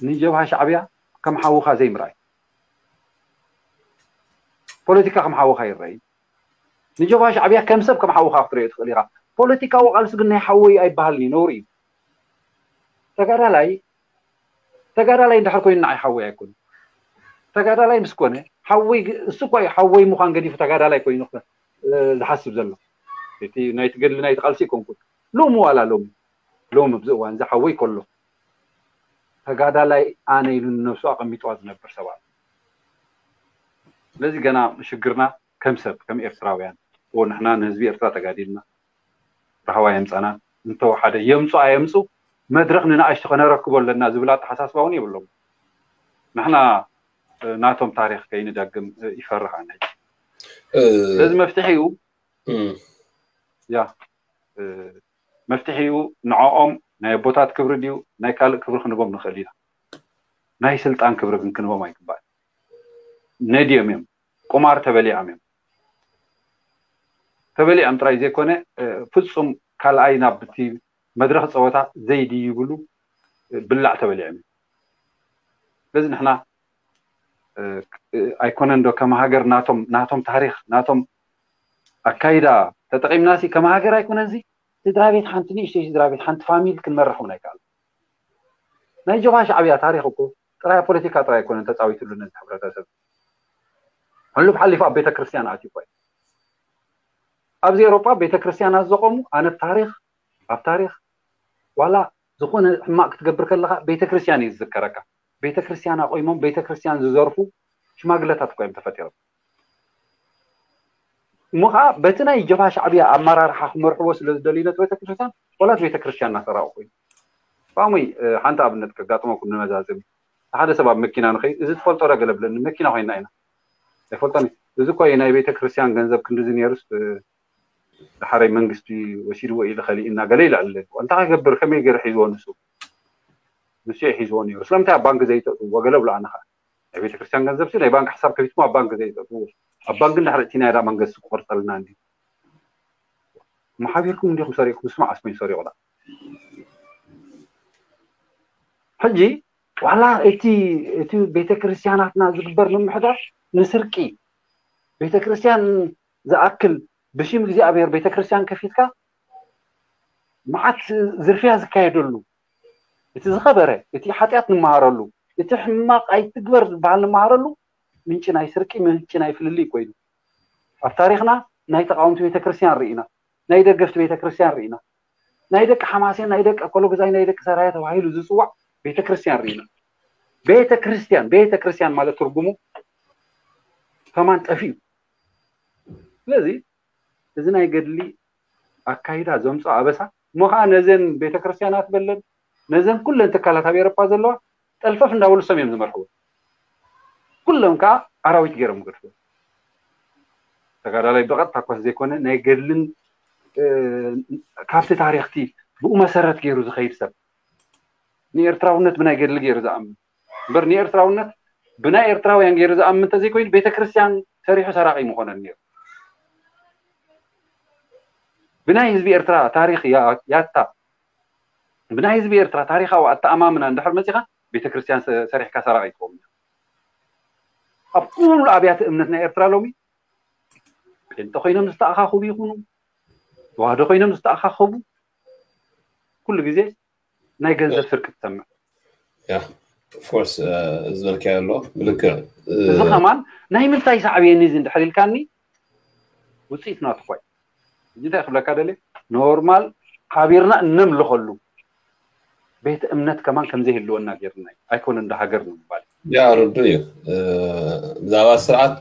ንጀብሃ ሻዕብያ ከም ሓውኻ ዘይምርኣይ ፖለቲካ ከም ሓውኻ ይረኣይ ንጀብሃ ሻዕብያ ከም ሰብ ከም ሓውኻ ክትሪኦ ትኽእል ኢኻ ፖለቲካዊ ቃልሲ ግን ናይ ሓወይ ኣይበሃልን እዩ ነውሪ እዩ ተጋዳላይ ተጋዳላይ እንድሕር ኮይኑ ንዓይ ሓወይ ኣይኮነ ተጋዳላይ ምስ ኮነ ሓወይ እሱ እኳ እዩ ሓወይ ምዃን ገዲፉ ተጋዳላይ ኮይኑ ዝሓስብ ዘሎ እቲ ናይ ትገድሊ ናይ ትቃልሲ ይኮንኩን ሎሚ ዋላ ሎሚ ሎሚ ኣብዚ እዋን እዚ ሓወይ ከሎ ተጋዳላይ ኣነ ኢሉ ንነብሱ ኣቐሚጥዋ ዝነብር ሰባት ስለዚ ገና ሽግርና ከም ሰብ ከም ኤርትራውያን ንሕና ንህዝቢ ኤርትራ ተጋዲልና ራህዋ የምፀና እንተወሓደ የምፁ ኣየምፁ መድረክ ንንኣሽቱ ከነረክቦ ኣለና ዝብል ኣተሓሳስባ እውን የብሎም ንሕና ናቶም ታሪክ ከይንደግም ይፈርሕ ኣነ ስለዚ መፍትሒ እዩ ያ መፍትሒ እዩ ንዕኦም ናይ ኣቦታት ክብሪ ድዩ ናይ ካልእ ክብሪ ክንቦም ንኽእል ኢና ናይ ስልጣን ክብሪ ግን ክንቦም ኣይግባእ ነድዮም እዮም ቁማር ተበሊዖም እዮም ተበሊዖም ጥራይ ዘይኮነ ፍፁም ካልኣይ ናብ እቲ መድረክ ፀወታ ዘይድይብሉ ብላዕ ተበሊዖም እዮም ስለዚ ንሕና ኣይኮነን ዶ ከም ሃገር ናቶም ናቶም ታሪክ ናቶም ኣካይዳ ተጠቂምናሲ ከም ሃገር ኣይኮነን ዚ ስድራ ቤት ሓንቲ ንእሽተይ ስድራ ቤት ሓንቲ ፋሚል ክንመርሕ እውን ኣይከኣል ናይ ጀብሃ ሻዕብያ ታሪክ እኮ ጥራይ ፖለቲካ ጥራይ ኣይኮነን ተፃዊትሉ ነዚ ሕብረተሰብ ሕሉፍ ሓሊፉ ኣብ ቤተክርስትያን ኣትዩ ኮይ ኣብዚ ኤሮጳ ቤተክርስትያናት ዘቆሙ ኣነ ታሪክ ኣብ ታሪክ ዋላ ዝኾነ ሕማቅ ክትገብር ከለካ ቤተክርስትያን እዩ ዝዝከረካ ቤተክርስትያን ኣቆይሞም ቤተክርስትያን ዝዘርፉ ሽማግለታት እኮ እዮም ተፈጢሮም እሞ ከዓ በቲ ናይ ጀብሃ ሻዕብያ ኣመራርሓ ክመርሕዎ ስለ ዝደልዩ ነቲ ቤተክርስትያን ዋላ እቲ ቤተክርስትያን እናሰረቁ ኮይኑ ፋሙይ ሓንቲ ኣብነት ከጋጥመኩም ንመዛዘሚ ሓደ ሰብ ኣብ መኪና ንኸይድ እዚ ትፈልጦ ዶ ገለ ብለኒ መኪና ኮይና ኢና ኣይፈልጦን እዚ እኮ ናይ ቤተክርስትያን ገንዘብ ክንድዚ ነይሩስ ድሓረይ መንግስቲ ወሲድዎ ኢሉ ከሊእና ገለ ይልዕል ኣለኒ እንታይ ክገብር ከመይ ገይሩ ሒዝዎ ንሱ ንሱ ሒዝዎ ነይሩ ስለምንታይ ኣብ ባንክ ዘይተእትዎ ገለ ብሎ ኣነ ከዓ ናይ ቤተክርስትያን ገንዘብ ናይ ባንክ ሓሳብ ከፊትኩም ኣብ ባንክ ዘይተእትዎ ኣብ ባንክ እንድሕር እቲ ናይ ዳ መንግስቲ ክቆርፀልና እንዲ መሓቢርኩም እንዲኹም ሰሪቕኩም፣ ስማዕ ኣስኮኝ ሰሪቑ ዳ። ሕጂ ዋላ እቲ እቲ ቤተክርስትያናትና ዝግበር ምምሕዳር ንስርቂ፣ ቤተክርስትያን ዝኣክል ብሽም እግዚኣብሔር ቤተክርስትያን ከፊትካ መዓት ዝርፍያ ዝካየደሉ፣ እቲ ዝኸበረ፣ እቲ ሓጢኣት ንመሃረሉ፣ እቲ ሕማቕ ኣይትግበር ዝበሃል ንመሃረሉ ምንጪ ናይ ስርቂ፣ ምንጪ ናይ ፍልልይ ኮይኑ ኣብ ታሪኽና ናይ ተቃወምቲ ቤተክርስትያን ርኢና፣ ናይ ደገፍቲ ቤተክርስትያን ርኢና፣ ናይ ደቂ ሓማሴን፣ ናይ ደቂ ኣኮሎጉዛይ፣ ናይ ደቂ ሰራየ ተባሂሉ ዝፅዋዕ ቤተክርስትያን ርኢና። ቤተክርስትያን ቤተክርስትያን ማለት ትርጉሙ ከማን ጠፊኡ። ስለዚ እዚ ናይ ገድሊ ኣካይዳ ዘምፅኦ ኣበሳ እሞ ከዓ ነዘን ቤተክርስትያናት በለን ነዘን ኩለን ትካላት ኣብ ኤሮፓ ዘለዋ ጠልፈፍ እንዳበሉ ሰም እዮም ዝመርሕዎ። ኩሎም ከዓ ኣራዊት ገይሮም ገድፍዎ። ተጋዳላይ ብቐጥታ እኳ ዘይኮነ ናይ ገድልን እ፣ ካብቲ ታሪኽቲ ብኡ መሰረት ገይሩ ዝኸይድ ሰብ ንኤርትራውነት ብናይ ገድሊ ገይሩ ዝኣምን እምበር ንኤርትራውነት ብናይ ኤርትራውያን ገይሩ ዝኣምን እንተዘይኮይኑ ቤተክርስትያን ሰሪሑ ሰራቂ ምኾነን ነይሩ። ብናይ ህዝቢ ኤርትራ ታሪኽ ያ- ያታ ብናይ ህዝቢ ኤርትራ ታሪኻዊ ኣተኣማምና እንድሕር መፂኻ ቤተክርስትያን ሰ- ሰሪሕካ ሰራቂ ትኸውን። ኣብ ኩሉ ኣብያተ እምነት ናይ ኤርትራ ሎሚ ጴንጠ ኮይኖም ዝተኣኻኸቡ ይኹኑ ተዋህዶ ኮይኖም ዝተኣኻኸቡ ኩሉ ግዜ ናይ ገንዘብ ስርቂ ትሰምዕ። ያ ኦፍኮርስ ዝበልካዮ ኣሎ ብልክዕ እዚ ከማን ናይ ምንታይ ሳዕብየኒ እዚ እንድሕር ኢልካኒ ውፅኢት ናትኳይ እዚ እንታይ ክብለካ ደልየ ኖርማል ሓቢርና እነምልኸሉ ቤተ እምነት ከማን ከምዘይህልወና ገይርና እዩ ኣይኮነ እንደ ሃገር ንምባል ያ ርዱ እዩ። ብዛዕባ ስርዓት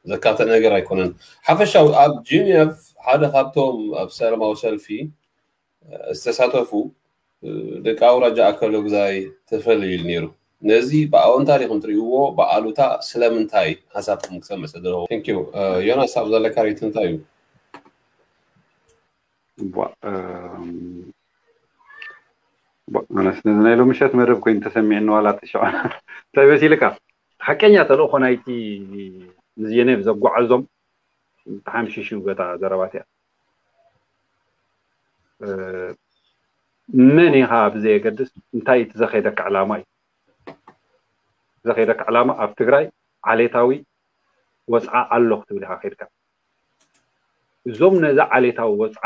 ዘካተ ነገር ኣይኮነን። ሓፈሻዊ ኣብ ጂኒቭ ሓደ ካብቶም ኣብ ሰላማዊ ሰልፊ ዝተሳተፉ ደቂ ኣውራጃ ኣከለጉዛይ ተፈለዩ ኢሉ ነይሩ። ነዚ ብኣወንታ ዲኹም ትርእይዎ ብኣሉታ ስለምንታይ ሓሳብኩም ክሰምዕ ስለ ዘለኹ። Thank you። ዮናስ ኣብ ዘለካ ሬት እንታይ እዩ? ኣነስ ነዚ ናይ ሎሚ ምሸት መደብ ኮይኑ ተሰሚዕኒ ዋላ ተሸዖ እንታይ መሲልካ ሓቀኛ ተልእኾ ናይቲ ንዜኔቭ ዘጓዓዞም ተሓምሽሹ በታ ዘረባት እያ መን ኢኻ ብዘየገድስ እንታይ እቲ ዘኸይደካ ዕላማ እዩ ዘኸይደካ ዕላማ ኣብ ትግራይ ዓሌታዊ ወፅዓ ኣሎ ክትብል ኢኻ ከይድካ እዞም ነዛ ዓሌታዊ ወፅዓ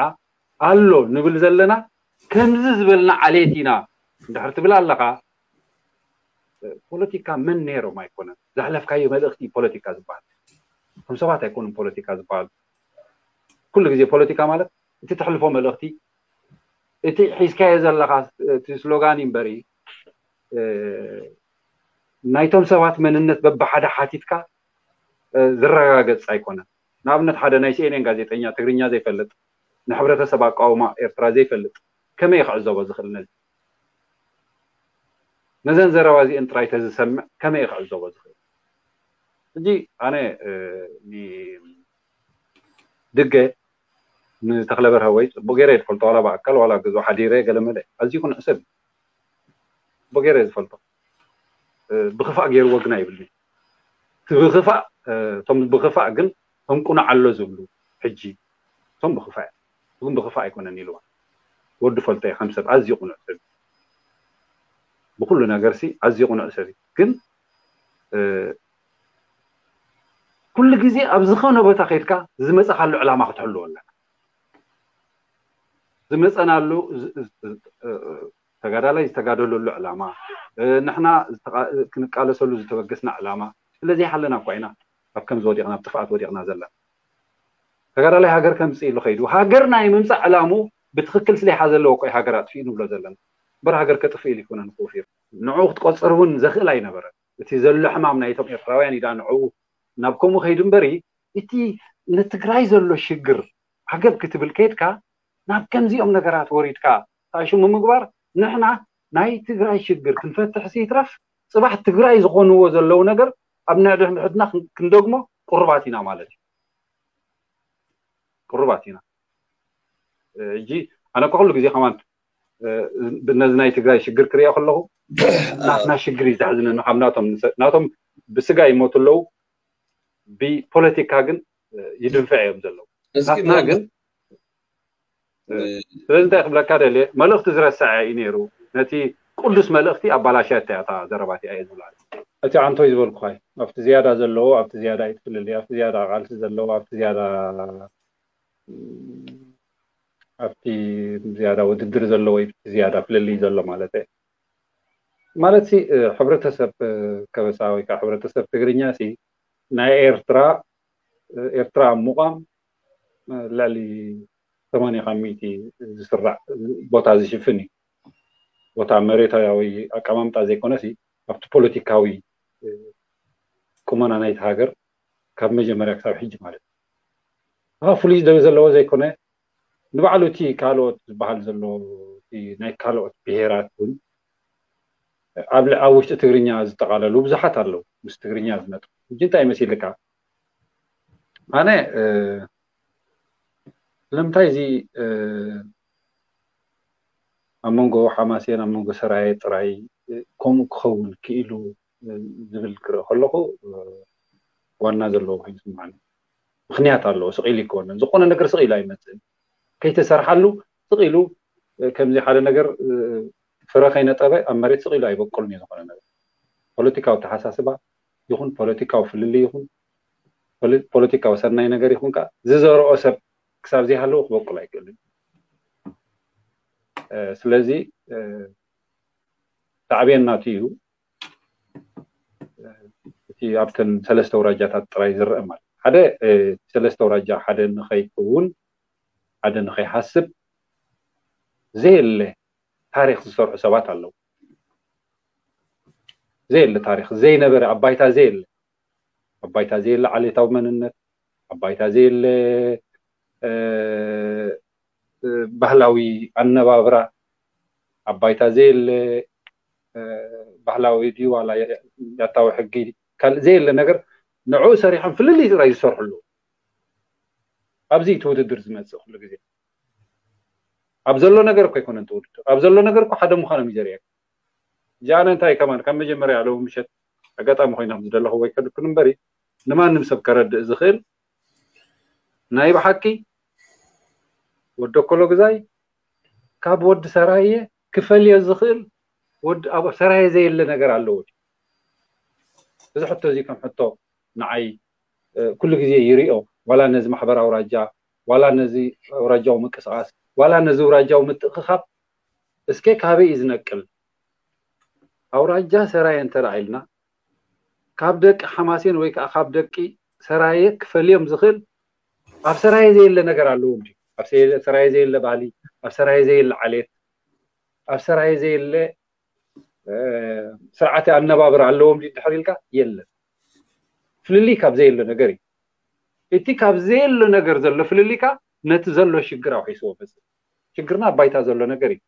ኣሎ ንብል ዘለና ከምዚ ዝበልና ዓሌት ኢና እንድሕር ትብል ኣለኻ ፖለቲካ መን ነይሮም ኣይኮነን ዘሕለፍካዮ መልእኽቲ ፖለቲካ ዝበሃል እቶም ሰባት ኣይኮኑም ፖለቲካ ዝበሃሉ ኩሉ ግዜ ፖለቲካ ማለት እቲ ተሕልፎ መልእኽቲ እቲ ሒዝካዮ ዘለኻ እቲ ስሎጋን እምበሪ ናይቶም ሰባት መንነት በብሓደ ሓቲትካ ዝረጋገፅ ኣይኮነን ንኣብነት ሓደ ናይ ሲኤንኤን ጋዜጠኛ ትግርኛ ዘይፈልጥ ንሕብረተሰብ ኣቃውማ ኤርትራ ዘይፈልጥ ከመይ ክዕዘቦ ዝኽእል ነዚ ነዘን ዘረባ እዚአን ጥራይ ተዝሰምዕ ከመይ ክዕዘቦ ዝኽእል ሕጂ ኣነ ድገ ንተኽለበር ሃወይ ፅቡቅ ገይረ ዝፈልጦ ዋላ ብኣካል ዋላ ገዝኦ ሓዲረ ገለመለ ኣዝዩ ክንዕሰብ ፅቡቅ ገይረ ዝፈልጦ ብክፋእ ገይርዎ ግና ይብልኒ እቲ ብክፋእ እቶም ብክፋእ ግን ተንቁናዓሎ ዝብሉ ሕጂ እቶም ብክፋእ ግን ብክፋእ ኣይኮነን ኢልዋ ወዲ ፈልጦ ከም ሰብ ኣዝዩ ቅኑዕ ሰብ ብኩሉ ነገር ሲ ኣዝዩ ቅኑዕ ሰብ ግን ኩሉ ግዜ ኣብ ዝኾነ ቦታ ከይድካ ዝመፀኻሉ ዕላማ ክትሕልዎ ኣለካ ዝመፀናሉ ተጋዳላይ ዝተጋደለሉ ዕላማ ንሕና ክንቃለሰሉ ዝተበገስና ዕላማ ስለዘይሓለና እኳ ኢና ኣብ ከምዚ ወዲቕና ኣብ ጥፍኣት ወዲቕና ዘለና ተጋዳላይ ሃገር ከምፅእ ኢሉ ከይዱ ሃገር ናይ ምምፃእ ዕላሙ ብትክክል ስለይሓዘለዎ እኮ ሃገር ኣጥፊኡ ንብሎ ዘለና እምበር ሃገር ከጥፍእ ኢሉ ይኮነን ክውፊር ንዕኡ ክትቆፅር እውን ዘኽእል ኣይነበረን እቲ ዘሎ ሕማም ናይቶም ኤርትራውያን ኢዳ ንዕኡ ናብ ከምኡ ከይዱ እምበሪ እቲ ንትግራይ ዘሎ ሽግር ዓገብ ክትብል ከይድካ ናብ ከምዚኦም ነገራት ወሪድካ ታሽሙ ምግባር ንሕና ናይ ትግራይ ሽግር ክንፈትሕ ይትረፍ ፅባሕ ትግራይ ዝኾንዎ ዘለዉ ነገር ኣብ ንሕድሕድና ክንደግሞ ቅሩባት ኢና ማለት እዩ ቅሩባት ኢና እጂ ኣነ እኮ ኩሉ ግዜ ከማን ነዚ ናይ ትግራይ ሽግር ክሪኦ ከለኹ ናትና ሽግር እዩ ዘሕዝነኒ ካብ ናቶም ናቶም ብስጋ ይሞቱ ኣለዉ ብፖለቲካ ግን ይድንፍዕ እዮም ዘለዉ ናትና ግን ስለዚ እንታይ ክብለካ ደልየ፣ መልእኽቲ ዝረስዐ እዩ ነይሩ። ነቲ ቅዱስ መልእኽቲ ኣባላሽያታ እያ እታ ዘረባቲኣ እየ ዝብላ። እቲ ዓንቶይ ዝበልኩኻ እዩ። ኣብቲ ዝያዳ ዘለዎ ኣብቲ ዝያዳ እዩ ትፍልልይ፣ ኣብቲ ዝያዳ ቃልሲ ዘለዎ ኣብቲ ዝያዳ ኣብቲ ዝያዳ ውድድር ዘለዎ እዩ ዝያዳ ፍልልይ ዘሎ ማለት እየ። ማለት ሲ ሕብረተሰብ ከበሳ ወይ ከዓ ሕብረተሰብ ትግርኛ ሲ ናይ ኤርትራ ኤርትራ ኣብ ምቋም ልዕሊ ሰማንያ ካብ ሚእቲ ዝስራዕ ቦታ ዝሽፍን እዩ። ቦታ መሬታዊ ኣቀማምጣ ዘይኮነሲ ኣብቲ ፖለቲካዊ ቁመና ናይቲ ሃገር ካብ መጀመርያ ክሳብ ሕጂ ማለት እዩ። ፍሉይ ዘለዎ ዘይኮነ ንባዕሉ እቲ ካልኦት ዝበሃል ዘሎ ናይ ካልኦት ብሄራት እውን ኣብ ውሽጢ ትግርኛ ዝጠቓለሉ ብዙሓት ኣለዉ። ምስ ትግርኛ ዝመጡ ሕጂ እንታይ መሲልካ ኣነ ስለምንታይ እዚ ኣብ መንጎ ሓማሴን ኣብ መንጎ ሰራየ ጥራይ ከምኡ ክኸውን ክኢሉ ዝብል ክርኢ ከለኹ ዋና ዘለዎ ኮይኑ ይስምዓኒ። ምክንያት ኣለዎ። ስቕ ኢሉ ኣይኮነን ዝኾነ ነገር ስቕ ኢሉ ኣይመፅእን። ከይተሰርሓሉ ስቕ ኢሉ ከምዚ ሓደ ነገር ፍረ ከይነጠበ ኣብ መሬት ስቕ ኢሉ ኣይበቁልን እዩ። ዝኾነ ነገር ፖለቲካዊ ተሓሳስባ ይኹን ፖለቲካዊ ፍልልይ ይኹን ፖለቲካዊ ሰናይ ነገር ይኹን ከዓ ዝዘርኦ ሰብ ክሳብ ዘይሃለዎ ክበቁል ኣይክእልን። ስለዚ ሳዕቤን ናቱ እዩ። እቲ ኣብተን ሰለስተ ውራጃታት ጥራይ ዝረአ ማለት ሓደ ሰለስተ ውራጃ ሓደ ንኸይከውን ሓደ ንኸይሃስብ ዘየለ ታሪክ ዝሰርሑ ሰባት ኣለዉ። ዘየለ ታሪክ ዘይነበረ ኣብ ባይታ ዘየለ ኣብ ባይታ ዘየለ ዓሌታዊ መንነት ኣብ ባይታ ዘየለ ባህላዊ ኣነባብራ ኣብ ባይታ ዘየለ ባህላዊ ድዩ ዋላ ያታዊ ሕጊ ካልእ ዘየለ ነገር ንዕኡ ሰሪሖም ፍልልይ ጥራይ ዝሰርሑ ኣለዉ። ኣብዚ እቲ ውድድር ዝመፅእ ኩሉ ግዜ ኣብ ዘሎ ነገር እኮ ኣይኮነን እቲ ውድድር ኣብ ዘሎ ነገር እኮ ሓደ ምዃኖም እዩ ዘርእየካ። እዚኣ እንታይ ከማን ካብ መጀመርያ ሎሚ ምሸት ኣጋጣሚ ኮይና ዝደለኹ ወይ ከድኩን እምበሪ ንማንም ሰብ ከረድእ ዝኽእል ናይ ብሓቂ ወዲ ኣኮሎ ግዛይ ካብ ወዲ ሰራየ ክፈልዮ ዝኽእል ወዲ ኣብ ሰራየ ዘየለ ነገር ኣለዎ። እዚ ሕቶ እዚ ከም ሕቶ ንዓይ ኩሉ ግዜ ይሪኦ። ዋላ ነዚ ማሕበራዊ ራጃ ዋላ ነዚ ኣውራጃዊ ምንቅስቃስ ዋላ ነዚ ኣውራጃዊ ምትእኽኻብ እስከ ካበይ እዩ ዝነቅል? ኣውራጃ ሰራየ እንተ ኢልና ካብ ደቂ ሓማሴን ወይ ከዓ ካብ ደቂ ሰራየ ክፈልዮም ዝኽእል ኣብ ሰራየ ዘየለ ነገር ኣለዎም ድዩ? ኣብ ሰራየ ዘየለ ባህሊ፣ ኣብ ሰራየ ዘየለ ዓሌት፣ ኣብ ሰራየ ዘየለ ስርዓተ ኣነባብራ ኣለዎም ድዩ ድሕር ኢልካ የለን። ፍልልይ ካብ ዘየለ ነገር እዩ። እቲ ካብ ዘየለ ነገር ዘሎ ፍልልይ ከዓ ነቲ ዘሎ ሽግር ኣውሒስዎ መፅእ። ሽግርና ኣብ ባይታ ዘሎ ነገር እዩ።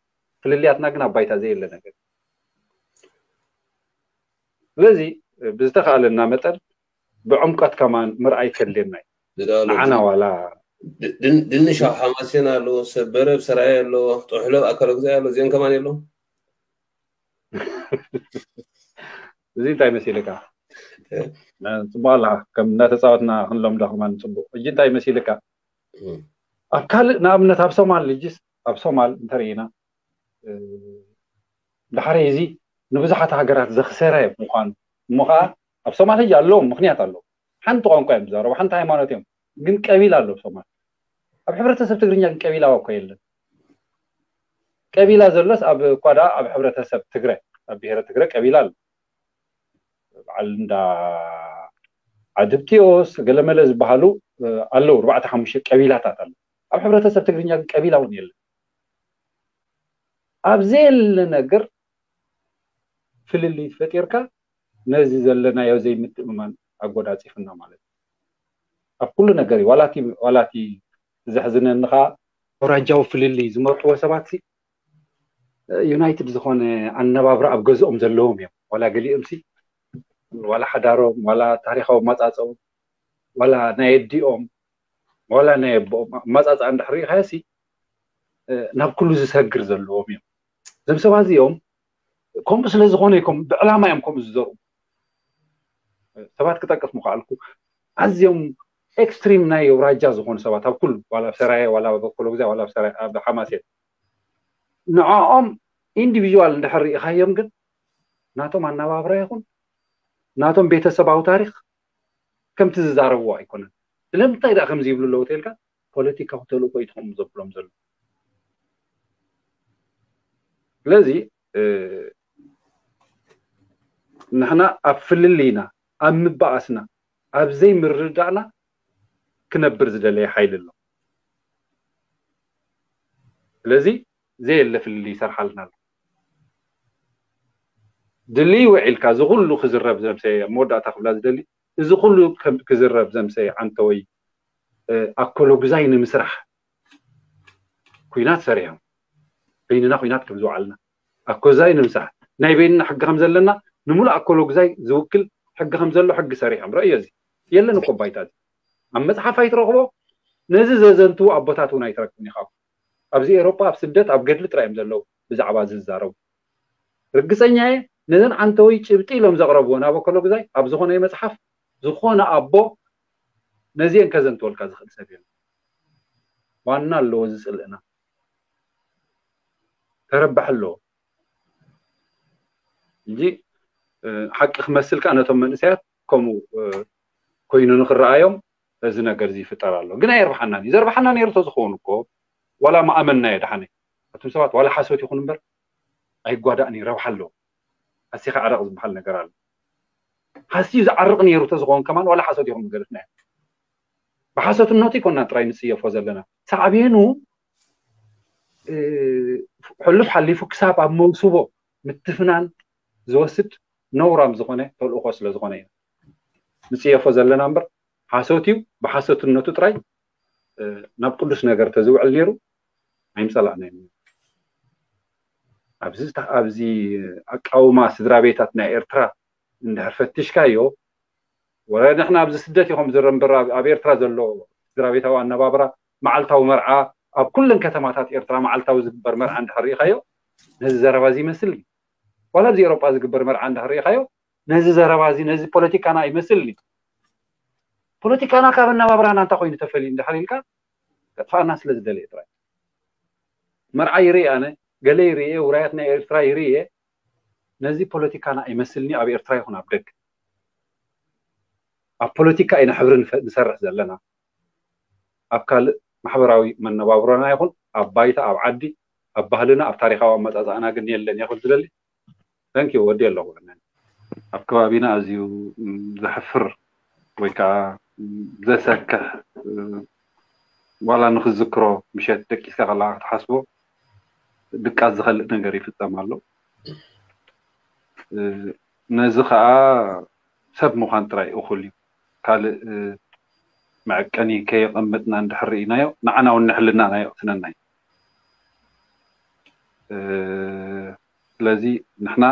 ፍልልያትና ግን ኣብ ባይታ ዘየለ ነገር። ስለዚ ብዝተኻእለና መጠን ብዕምቀት ከማን ምርኣይ ከድልየና እዩ። ንዓና ዋላ ድንሽ ኣብ ሓማሴን ኣሎ፣ ሰበረ ኣብ ሰራየ ኣሎ፣ ጥሕሎ ኣብ ኣካለ ጉዛይ ኣሎ፣ እዚኦም ከማን የለዉ። እዚ እንታይ መሲልካ? ፅቡቅ ኣላ ከም እናተፃወትና ክንለምዶ ከማን ፅቡቅ። እጂ እንታይ መሲልካ? ኣብ ካልእ ንኣብነት ኣብ ሶማል ልጅስ ኣብ ሶማል እንተርኢና ድሓረይ እዚ ንብዙሓት ሃገራት ዘኽሰረ ምዃኑ እሞ ከዓ ኣብ ሶማል ሕጂ ኣለዎም ምክንያት ኣለዎም። ሓንቲ ቋንቋ እዮም ዝዛረቡ፣ ሓንቲ ሃይማኖት እዮም፣ ግን ቀቢላ ኣሎ ሶማል። ኣብ ሕብረተሰብ ትግርኛ ግን ቀቢላ እኮ የለን። ቀቢላ ዘሎስ ኣብ እኳ ደኣ ኣብ ሕብረተሰብ ትግረ ኣብ ብሄረ ትግረ ቀቢላ ኣሎ። በዓል እንዳ ዓድብቲዮስ ገለመለ ዝበሃሉ ኣለዉ፣ ኣርባዕተ ሓሙሽተ ቀቢላታት ኣለዉ። ኣብ ሕብረተሰብ ትግርኛ ግን ቀቢላ እውን የለን። ኣብ ዘየለ ነገር ፍልልይ ፈጢርካ ነዚ ዘለናዮ ዘይምትእምማን ኣጎናፂፍና ማለት እዩ። ኣብ ኩሉ ነገር እዩ። ዋላ እቲ ዘሕዝነኒ ከዓ ኣውራጃዊ ፍልልይ ዝመርጥዎ ሰባት ዩናይትድ ዝኾነ ኣነባብራ ኣብ ገዝኦም ዘለዎም እዮም። ዋላ ገሊኦም ሲ ዋላ ሓዳሮም ዋላ ታሪካዊ ኣመፃፅኦም ዋላ ናይ ኣዲኦም ዋላ ናይ ኣቦኦም ኣመፃፅኣ እንድሕር ሪኢኻዮ ሲ ናብ ኩሉ ዝሰግር ዘለዎም እዮም። እዞም ሰባት እዚኦም ከምኡ ስለ ዝኾነ ይኮም ብዕላማ እዮም ከምኡ ዝዘርኡ። ሰባት ክጠቅስ ምኽኣልኩ ኣዝዮም ኤክስትሪም ናይ ኣውራጃ ዝኾኑ ሰባት ኣብ ኩሉ ዋላ ኣብ ሰራየ ዋላ ኣብ ኣኮሎግዛይ ዋላ ኣብ ሰራየ ኣብ ሓማሴን ንዕኦም ኢንዲቪጁዋል እንድሕር ርኢኻዮም ግን ናቶም ኣነባብራ ይኹን ናቶም ቤተሰባዊ ታሪክ ከምቲ ዝዛረብዎ ኣይኮነን። ስለምንታይ ደኣ ከምዚ ይብሉ ኣለዉ ተልካ ፖለቲካዊ ተልእኮ እዩ ትኾኑ ዘብሎም ዘሎ። ስለዚ ንሕና ኣብ ፍልልይና ኣብ ምባኣስና ኣብ ዘይምርዳእና ክነብር ዝደለየ ሓይሊ ኣሎ። ስለዚ ዘየለ ፍልልይ ይሰርሓልና ኣሎ። ድልይ ውዒልካ እዚ ኩሉ ክዝረብ ዘምሰየ ኣብ መወዳእታ ክብላ ዝደሊ እዚ ኩሉ ክዝረብ ዘምሰየ ዓንተወይ ኣኮሎጉዛይ ንምስራሕ ኩናት ሰሪሖም በይንና ኩናት ከም ዝወዓልና ኣኮዛይ ንምስራሕ ናይ በይንና ሕጊ ከም ዘለና ንምሉእ ኣኮሎጉዛይ ዝውክል ሕጊ ከም ዘሎ ሕጊ ሰሪሖም ረእዮ እዚ የለን እኮ ባይታ እዚ ኣብ መፅሓፍ ኣይትረኽቦ ነዚ ዘዘንትዉ ኣቦታት እውን ኣይትረክብን ኢኻ ኣብዚ ኤሮጳ ኣብ ስደት ኣብ ገድሊ ጥራይ እዮም ዘለዉ ብዛዕባ እዚ ዝዛረቡ ርግፀኛ እየ ነዘን ዓንተወይ ጭብጢ ኢሎም ዘቕረብዎ ናብ ኣኮሎጉዛይ ኣብ ዝኾነ መፅሓፍ ዝኾነ ኣቦ ነዚአን ከዘንትወልካ ዝኽእል ሰብ የለን ዋና ኣለዎ ዝፅልእና ተረባሕ ኣለዎ እንጂ ሓቂ ክመስል ከዓ ነቶም መንእሰያት ከምኡ ኮይኑ ንክረኣዮም እዚ ነገር እዚ ይፍጠር ኣሎ ግን ኣየርብሓናን እዩ ዘርብሓና ነይሩ ተዝኸውን እኮ ዋላ ማኣመንና እየ ደሓነ ኣቱም ሰባት ዋላ ሓሶት ይኹን እምበር ኣይጓዳእን እዩ ረብሓ ኣለዎ ኣሲኻ ዓረቕ ዝበሃል ነገር ኣሎ ሓስዩ ዝዓርቕ ነይሩ ተዝኸውን ከማን ዋላ ሓሶት ይኹን ገለፍና ብሓሶትነቱ ይኮና ጥራይ ንፅየፎ ዘለና ሳዕቤኑ ሕሉፍ ሓሊፉ ክሳብ ኣብ መውስቦ ምትፍናን ዝወስድ ነውራም ዝኾነ ተልእኮ ስለ ዝኾነ ኢና ንፅየፎ ዘለና እምበር ሓሶት እዩ ብሓሶትነቱ ጥራይ ናብ ቅዱስ ነገር ተዝውዕል ነይሩ ኣይምፀላእና ኣብዚ ኣብዚ ኣቃውማ ስድራ ቤታት ናይ ኤርትራ እንድሕር ፈትሽካዮ ወረ ንሕና ኣብዚ ስደት ኢኹም ዝረ እምበር ኣብ ኤርትራ ዘሎ ስድራ ቤታዊ ኣነባብራ መዓልታዊ መርዓ ኣብ ኩለን ከተማታት ኤርትራ መዓልታዊ ዝግበር መርዓ እንድሕር ርኢኻዮ ነዚ ዘረባ እዚ ይመስል ዋላ ኣብዚ ኤሮጳ ዝግበር መርዓ እንድሕር ርኢኻዮ ነዚ ዘረባ እዚ ነዚ ፖለቲካና ይመስል ፖለቲካና ካብ ኣነባብራና እንታይ ኮይኑ ተፈልዩ እንድሕር ኢልካ ከጥፋኣና ስለ ዝደለየ ጥራይ መርዓ ይርኢ ኣነ ገለ ይርኢ ውራያት ናይ ኤርትራ ይርኢ ነዚ ፖለቲካና ኣይመስልኒ ኣብ ኤርትራ ይኹን ኣብ ደግ ኣብ ፖለቲካ ኢና ሕብሪ ንሰርሕ ዘለና ኣብ ካልእ ማሕበራዊ መነባብሮና ይኹን ኣብ ባይታ ኣብ ዓዲ ኣብ ባህልና ኣብ ታሪካዊ ኣመፃፅኣና ግን የለን እየ ክብል ዝደሊ ተንኪ ወዲ ኣለኹ ኣብ ከባቢና ኣዝዩ ዘሕፍር ወይ ከዓ ዘሰክሕ ዋላ ንክዝክሮ ምሸት ደቂስካ ከለካ ክትሓስቦ ድቃስ ዝኸልእ ነገር ይፍፀም ኣሎ ነዚ ከዓ ሰብ ምዃን ጥራይ እኹል እዩ ካልእ መዐቀኒ ከየቐመጥና እንድሕር ርኢናዮ ንዓና እውን ንሕልናና የቕስነና እዩ ስለዚ ንሕና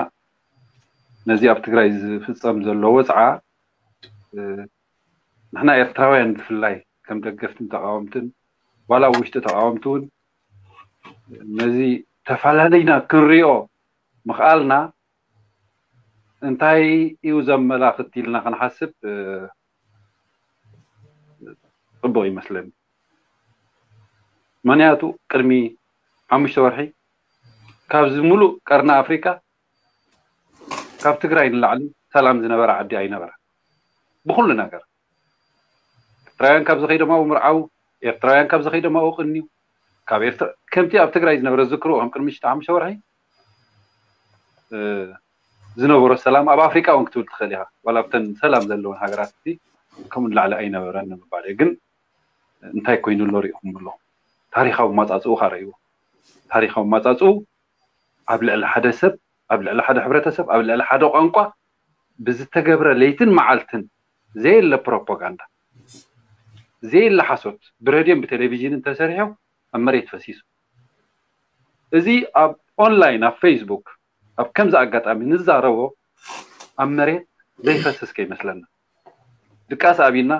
ነዚ ኣብ ትግራይ ዝፍፀም ዘሎ ወፅዓ ንሕና ኤርትራውያን ብፍላይ ከም ደገፍትን ተቃወምትን ዋላ ኣብ ውሽጢ ተቃወምቲ እውን ነዚ ተፈላለይና ክንሪኦ ምኽኣልና እንታይ እዩ ዘመላኽት ኢልና ክንሓስብ ፅቡቕ ይመስለኒ ምክንያቱ ቅድሚ ሓሙሽተ ወርሒ ካብዚ ሙሉእ ቀርኒ ኣፍሪካ ካብ ትግራይ ንላዕሊ ሰላም ዝነበረ ዓዲ ኣይነበረ ብኩሉ ነገር ኤርትራውያን ካብ ዝኸይዶም ኣብኡ ምርዓው ኤርትራውያን ካብ ዝኸይዶም ኣብኡ ቅንዩ ካብ ኤርትራ ከምቲ ኣብ ትግራይ ዝነበረ ዝክርዎ ከም ቅድሚ ሽተ ሓሙሽተ ወርሒ ዝነበሮ ሰላም ኣብ ኣፍሪቃ እውን ክትብል ትኽእል ኢኻ ዋላ ኣብተን ሰላም ዘለውን ሃገራት እቲ ከምኡ ንላዕሊ ኣይነበረን ንምባል እየ ግን እንታይ ኮይኑ ኣሎ ሪኢኹም ኣለኹም ታሪካዊ ማፃፅኡ ካረእይዎ ታሪካዊ ማፃፅኡ ኣብ ልዕሊ ሓደ ሰብ ኣብ ልዕሊ ሓደ ሕብረተሰብ ኣብ ልዕሊ ሓደ ቋንቋ ብዝተገብረ ለይትን መዓልትን ዘየለ ፕሮፓጋንዳ ዘየለ ሓሶት ብረድዮን ብቴሌቪዥንን ተሰሪሑ ኣብ መሬት ፈሲሱ እዚ ኣብ ኦንላይን ኣብ ፌስቡክ ኣብ ከምዚ ኣጋጣሚ ንዛረቦ ኣብ መሬት ዘይፈስስ ከይመስለና ድቃስ ኣብና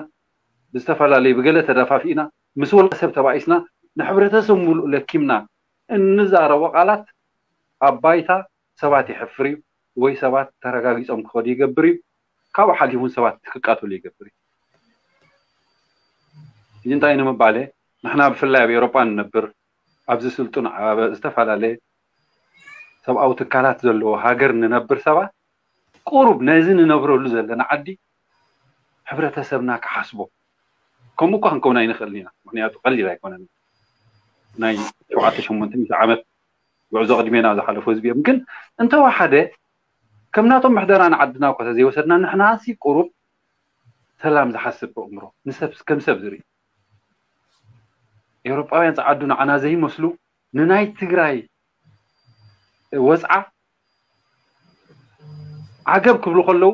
ብዝተፈላለዩ ብገለ ተደፋፊእና ምስ ውልቀ ሰብ ተባኢስና ንሕብረተሰብ ሙሉእ ለኪምና እንዛረቦ ቃላት ኣብ ባይታ ሰባት የሕፍር እዩ ወይ ሰባት ተረጋጊፆም ክኸዱ ይገብር እዩ ካብኡ ሓሊፉን ሰባት ክቃተሉ ይገብር እዩ እንታይ ንምባል እየ? ንሕና ብፍላይ ኣብ ኤውሮጳ ንነብር፣ ኣብዚ ስልጡን፣ ኣብ ዝተፈላለየ ሰብኣዊ ትካላት ዘለዎ ሃገር ንነብር ሰባት፣ ቁሩብ ነዚ ንነብረሉ ዘለና ዓዲ ሕብረተሰብና ክሓስቦ። ከምኡ እኳ ክንከውን ኣይንኽእልን ኢና፣ ምክንያቱ ቀሊል ኣይኮነን። ናይ ሸውዓተ ሽሞንተ ሚእቲ ዓመት ጉዕዞ ቅድሜና ዝሓለፉ ህዝቢ እዮም። ግን እንተወሓደ፣ ከም ናቶም ምሕደራ ንዓድና እኳ ተዘይወሰድና፣ ንሕና ሲ ቁሩብ ሰላም ዝሓስብ ኣእምሮ፣ ንሰብ ከም ሰብ ዝርኢ፣ ኤውሮጳውያን ጸዓዱ ንዓና ዘይመስሉ፣ ንናይ ትግራይ ወጽዓ ዓገብ ክብሉ ከለዉ፣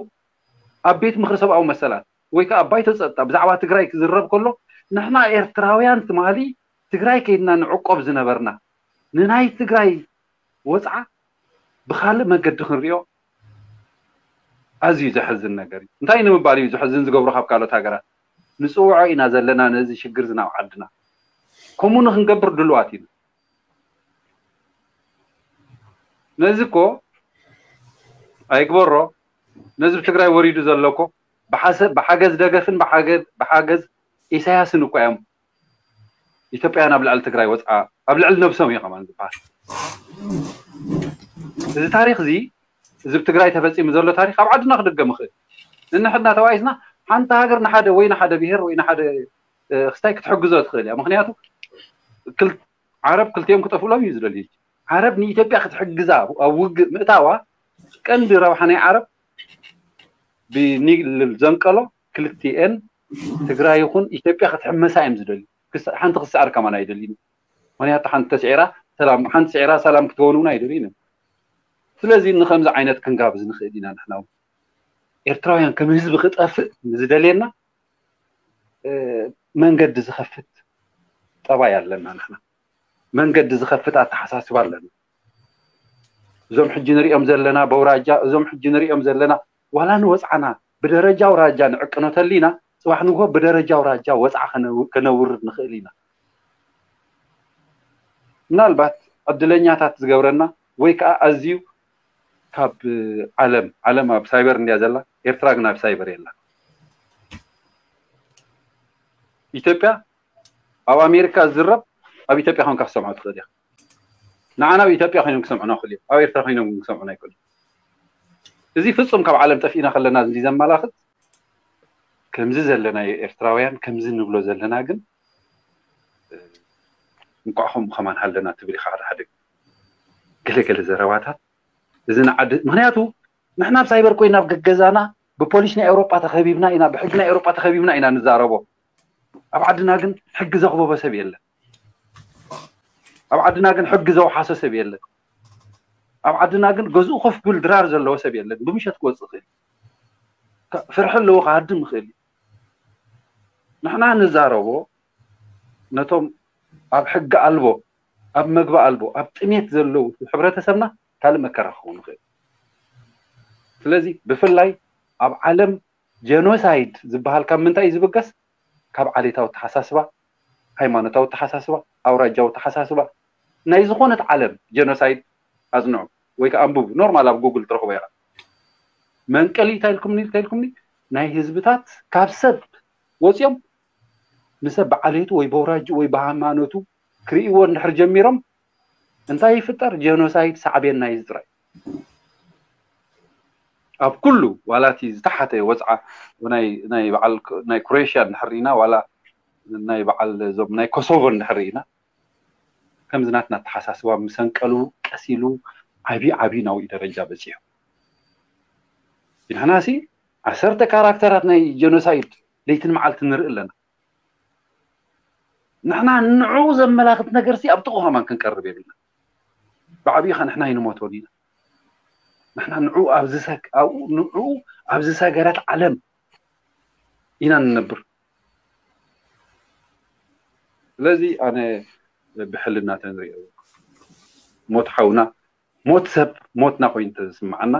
ኣብ ቤት ምኽሪ ሰብኣዊ መሰላት ወይ ከዓ ኣብ ባይቶ ጸጥታ ብዛዕባ ትግራይ ክዝረብ ከሎ፣ ንሕና ኤርትራውያን ትማሊ ትግራይ ከይድና ንዕቆብ ዝነበርና፣ ንናይ ትግራይ ወጽዓ ብኻልእ መገዲ ክንሪኦ ኣዝዩ ዘሕዝን ነገር እዩ። እንታይ ንምባል እዩ ዘሕዝን ዝገብሮ? ካብ ካልኦት ሃገራት ንጽውዖ ኢና ዘለና ነዚ ሽግር ዝናብ ዓድና። ከምኡ ንክንገብር ድሉዋት ኢና። ነዚ እኮ ኣይግበሮ፣ ነዚ ብትግራይ ወሪዱ ዘሎ እኮ ብሓሰ-፣ ብሓገዝ ደገፍን ብሓገ-፣ ብሓገዝ ኢሳያስን እኮ እዮም ኢትዮጵያውያን ኣብ ልዕሊ ትግራይ ወፅዓ፣ ኣብ ልዕሊ ነብሶም እዩ ከማን ዝበሃል። እዚ ታሪክ እዚ፣ እዚ ብትግራይ ተፈፂሙ ዘሎ ታሪክ ኣብ ዓድና ክድገም ይኽእል። ንንሕድና ተባኢስና ሓንቲ ሃገር ንሓደ ወይ ንሓደ ብሄር ወይ ንሓደ፣ እ፣ ክስታይ ክትሕግዞ ትኽእል እያ። ምክንያቱ ክል-፣ ዓረብ ክልቲኦም ክጠፍእሎም እዩ ዝደልዩ። ዓረብ ንኢትዮጵያ ክትሕግዛ ኣብ ውግእ ምእታዋ ቀንዲ ረብሓ ናይ ዓረብ ብኒል ዘንቀሎ ክልቲኤን ትግራይ ይኹን ኢትዮጵያ ክትሕመሳ እዮም ዝደልዩ። ክስ-፣ ሓንቲ ክስዓር ከማን ኣይደልዩን። ምክንያቱ ሓንቲ ተስዒራ ሰላም፣ ሓንቲ ስዒራ ሰላም ክትከውን እውን ኣይደልዩን እዮም። ስለዚ ንከምዚ ዓይነት ክንጋብዝ ንኽእል ኢና ንሕና እውን። ኤርትራውያን ከም ህዝቢ ክጠፍእ ንዝደልየና፣ እ፣ መንገዲ ዝኸፍት ጠባይ ኣለና ንሕና። መንገዲ ዝኸፍት ኣተሓሳስባ ኣለና። እዞም ሕጂ ንሪኦም ዘለና በውራጃ፣ እዞም ሕጂ ንሪኦም ዘለና ዋላ ንወፅዓና ብደረጃ ኣውራጃ ንዕቅኖ ተሊና፣ ፅባሕ ንግሆ ብደረጃ ኣውራጃ ወፅዓ ከነው-፣ ከነውርድ ንኽእል ኢና። ምናልባት ዕድለኛታት ዝገብረና ወይ ከዓ ኣዝዩ ካብ ዓለም፣ ዓለም ኣብ ሳይበር እንድያ ዘላ፣ ኤርትራ ግን ኣብ ሳይበር የላ። ኢትዮጵያ ኣብ ኣሜሪካ ዝዝረብ ኣብ ኢትዮጵያ ኮንካ ክሰምዖ ትኽእል ኢኻ። ንዓና ኣብ ኢትዮጵያ ኮይኖም ክሰምዑና ይኽእሉ እዮም፣ ኣብ ኤርትራ ኮይኖም ግን ክሰምዑና ኣይክእሉ። እዚ ፍጹም ካብ ዓለም ጠፊእና ከለና እዚ ዘመላኽት፣ ከምዚ ዘለና ኤርትራውያን ከምዚ ንብሎ ዘለና ግን፣ እ፣ እንቋዕ ከምኡ ከማን ሃለና ትብል ኢኻ ሓደ ሓደ ገለ ገለ ዘረባታት። እዚ ንዓዲ፣ ምክንያቱ ንሕና ኣብ ሳይበር ኮይና ኣብ ገገዛና ብፖሊስ ናይ ኤውሮጳ ተኸቢብና ኢና፣ ብሕጊ ናይ ኤውሮጳ ተኸቢብና ኢና ንዛረቦ። ኣብ ዓድና ግን ሕጊ ዘኽበቦ ሰብ የለን። ኣብ ዓድና ግን ሕጊ ዘውሓሶ ሰብ የለን። ኣብ ዓድና ግን ገዝኡ ኮፍ ክብል ድራር ዘለዎ ሰብ የለን። ብምሸት ክወጽእ ይኽእል እዩ። ካ-፣ ፍርሒ ኣለዎ፣ ክሃድም ይኽእል እዩ። ንሕና ንዛረቦ ነቶም ኣብ ሕጊ ኣልቦ፣ ኣብ መግቢ ኣልቦ፣ ኣብ ጥሜት ዘለዉ ሕብረተሰብና ካልእ መከራ ክኸውን ይኽእል። ስለዚ ብፍላይ ኣብ ዓለም ጀኖሳይድ ዝበሃል ካብ ምንታይ እዩ ዝብገስ? ካብ ዓሌታዊ ኣተሓሳስባ፣ ሃይማኖታዊ ኣተሓሳስባ፣ ኣውራጃዊ ኣተሓሳስባ። ናይ ዝኾነት ዓለም ጀኖሳይድ ኣጽንዑ ወይ ከዓ ኣንብቡ። ኖርማል ኣብ ጉግል ትረኽቦ ኢኻ። መንቀሊ እንታይ ኢልኩምኒ፣ እንታይ ኢልኩምኒ? ናይ ህዝብታት ካብ ሰብ ወፂኦም ንሰብ ብዓሌቱ ወይ በውራጅኡ ወይ ብሃይማኖቱ ክርእይዎ እንድሕር ጀሚሮም እንታይ ይፍጠር? ጀኖሳይድ ሳዕቤን ናይ እዚ ጥራይ። ኣብ ኩሉ ዋላ እቲ ዝተሓተ ወፅዓ ናይ፣ ናይ በዓል ክ-፣ ናይ ክሮኤሽያ እንድሕር ርኢና ዋላ ናይ በዓል እዞም ናይ ኮሶቮ እንድሕር ርኢና ከምዚ ናትና ኣተሓሳስባ ምሰንቀሉ ቀስ ኢሉ ዓብዪ ዓብዪ ናብኡ ደረጃ በፂሑ። ንሕና ሲ ዓሰርተ ካራክተራት ናይ ጀኖሳይድ ለይትን መዓልትን ንርኢ ኣለና። ንሕና ንዕኡ ዘመላኽት ነገር ሲ ኣብ ጥቕኡ ከማን ክንቀርብ የብልና። ብዓብዪ ኸ ንሕና ኣይንሞቶን ኢና። ንሕና ንዕኡ ኣብ ዝሰግ-፣ ኣብኡ ንዕኡ ኣብ ዝሰገረት ዓለም ኢና ንነብር። ስለዚ ኣነ ብሕልና ተንሪኦ ሞት ሓውና፣ ሞት ሰብ ሞትና ኮይኑ ተዝስምዓና፣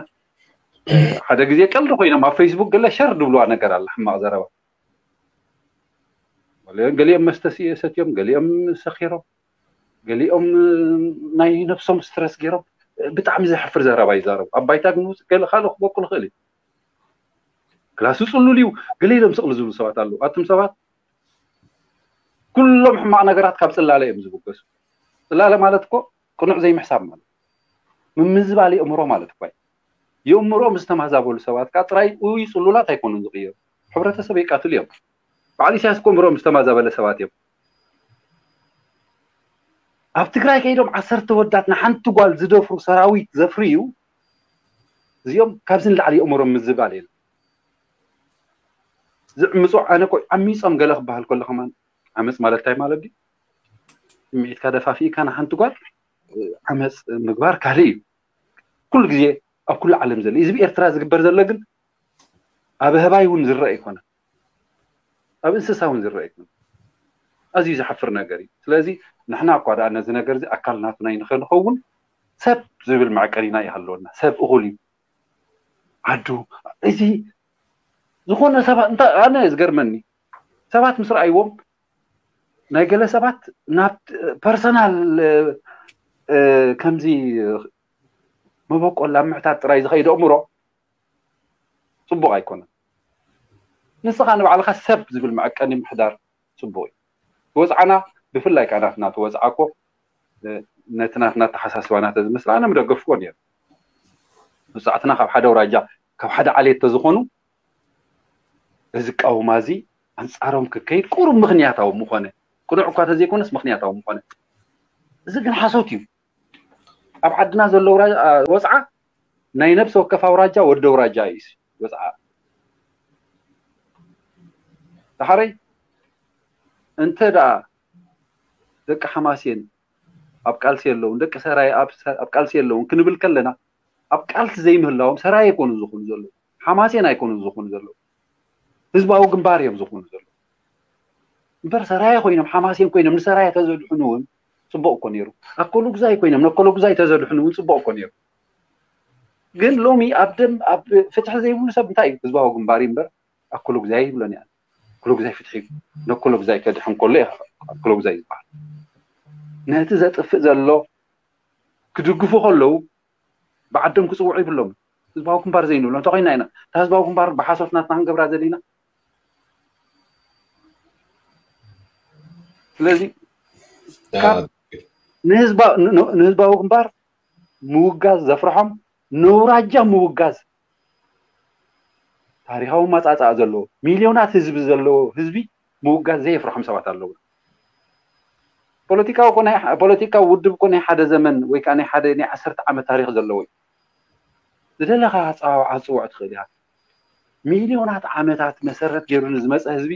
ሓደ ግዜ ቀልዲ ኮይኖም ኣብ ፌስቡክ ገለ ሸር ድብልዋ ነገር ኣላ፣ ሕማቕ ዘረባ። ገሊኦም፣ ገሊኦም መስተ ሲ-፣ ሰትዮም፣ ገሊኦም ሰኺሮም፣ ገሊኦም ናይ ነብሶም ስትረስ ገይሮም ብጣዕሚ ዘሕፍር ዘረባ ይዛረቡ። ኣብ ባይታ ግን ውፅእ ገለ ካልእ ክበቁል ይኽእል እዩ። ክላሱ ፅሉል እዩ፣ ገለ ኢሎም ስቕሉ ዝብሉ ሰባት ኣለዉ። ኣቱም ሰባት ኩሎም ሕማቕ ነገራት ካብ ጽላለ እዮም ዝብገሱ። ጽላለ ማለት እኮ ቅኑዕ ዘይምሕሳብ ማለት፣ ምምዝባል የእምሮ ማለት እኳ እዩ። የእምሮኦም ዝተማዛበሉ ሰባት ከዓ ጥራይ፣ ውይ፣ ጽሉላት ኣይኮኑን ዝቕየሩ፣ ሕብረተሰብ የቃትሉ እዮም። በዓል ኢሳያስ እኮ እምሮኦም ዝተማዛበለ ሰባት እዮም። ኣብ ትግራይ ከይዶም ዓሰርተ ወዳት ንሓንቲ ጓል ዝደፍሩ ሰራዊት ዘፍርዩ፣ እዚኦም ካብዚ ንላዕሊ የእምሮም ምዝባል የለን። ዝዕምፁ፣ ኣነ እኮ ዓሚፆም ገለ ክበሃል ከሎ ከማን፣ ዓመፅ ማለት እንታይ ማለት ድዩ? ስምዒትካ ደፋፊእካ ንሓንቲ ጓል ዓመፅ ምግባር ካልእ እዩ። ኩሉ ግዜ ኣብ ኩሉ ዓለም ዘሎ፣ እዚ ብኤርትራ ዝግበር ዘሎ ግን ኣብ ኣህባይ እውን ዝረአ ኣይኮነን፣ ኣብ እንስሳ እውን ዝረአ ኣይኮነን። ኣዝዩ ዘሕፍር ነገር እዩ። ስለዚ ንሕና እኳ ደኣ ነዚ ነገር እዚ ኣካል ናትና ንኸንኸውን ሰብ ዝብል መዐቀኒና ይሃለወና። ሰብ እኹል እዩ። ዓዱ፣ እዚ ዝኾነ ሰባት፣ እንታ፣ ኣነ ዝገርመኒ ሰባት ምስ ረኣይዎም፣ ናይ ገለ ሰባት ናብ ፐርሰናል፣ እ፣ ከምዚ መበቆል ኣብ ምሕታት ጥራይ ዝኸይድ ኣእምሮ ጽቡቕ ኣይኮነን። ንስኻ ንባዕልኻ ሰብ ዝብል መዐቀኒ ምሕዳር ጽቡቕ እዩ። ወጽዓና፣ ብፍላይ ከኣ ናትና እቲ ወጽዓ እኮ፣ እ፣ ነቲ ናትና ኣተሓሳስባ ናተ ዝመስል ኣነ ምደገፍኩዎ ነይሩ። መብዛሕትና ካብ ሓደ ኣውራጃ፣ ካብ ሓደ ዓሌት ተዝኾኑ፣ እዚ ቃውማ እዚ ኣንጻሮም ክከይድ ቁሩብ ምኽንያታዊ ምኾነ። ቅኑዕ እኳ ተዘይኮነስ ምኽንያታዊ ምኾነ። እዚ ግን ሓሶት እዩ። ኣብ ዓድና ዘሎ ኣውራ-፣ ኣ፣ ወጽዓ ናይ ነብሲ ወከፍ ኣውራጃ ወዲ ኣውራጃ እዩ ወጽዓ። ደሓረይ እንተ ደኣ ደቂ ሓማሴን ኣብ ቃልሲ የለውን፣ ደቂ ሰራየ ኣብ ሰ-፣ ኣብ ቃልሲ የለውን ክንብል ከለና፣ ኣብ ቃልሲ ዘይምህላዎም ሰራየ ኣይኮኑን ዝኾኑ ዘለዉ፣ ሓማሴን ኣይኮኑን ዝኾኑ ዘለዉ፣ ህዝባዊ ግንባር እዮም ዝኾኑ ዘለዉ። እምበር ሰራየ ኮይኖም፣ ሓማሴን ኮይኖም ንሰራየ ተዘድሕኑ እውን ጽቡቕ እኮ ነይሩ። ኣኮሎጉዛይ ኮይኖም ነኮሎጉዛይ ተዘድሕኑ እውን ጽቡቕ እኮ ነይሩ። ግን ሎሚ ኣብ ደም፣ ኣብ ፍትሒ ዘይብሉ ሰብ እንታይ እዩ? ህዝባዊ ግንባር እዩ እምበር ኣኮሎጉዛይ ይብሎን እያ። ኣኮሎጉዛይ ፍትሒ እዩ። ነኮሎጉዛይ ከድሕን ከሎ እዩ ኣኮሎጉዛይ ዝበሃል። ነቲ ዘጥፍእ ዘሎ ክድግፉ ከለዉ ብዓዶም ክጽውዑ ይብሎም። ህዝባዊ ግንባር ዘይንብሎ እንተኾይና ኢና። እታ ህዝባዊ ግንባር ብሓሶት ናትና ክንገብራ ዘለና። ስለዚ ካብ ንህዝባ-፣ ን-፣ ንህዝባዊ ግንባር ምውጋዝ ዘፍርሖም፣ ነውራጃ ምውጋዝ፣ ታሪኻዊ ማጻጻኣ ዘለዎ፣ ሚልዮናት ህዝቢ ዘለዎ ህዝቢ ምውጋዝ ዘየፍርሖም ሰባት ኣለዉ። ፖለቲካዊ እኮ ናይ፣ ፖለቲካዊ ውድብ እኮ ናይ ሓደ ዘመን ወይ ከዓ ናይ ሓደ፣ ናይ ዓሰርተ ዓመት ታሪኽ ዘለዎ እዩ። ዝደለኻ ኣጸዋውዓ ክትጽውዖ ትኽእል ኢኻ። ሚልዮናት ዓመታት መሰረት ገይሩ ንዝመጸ ህዝቢ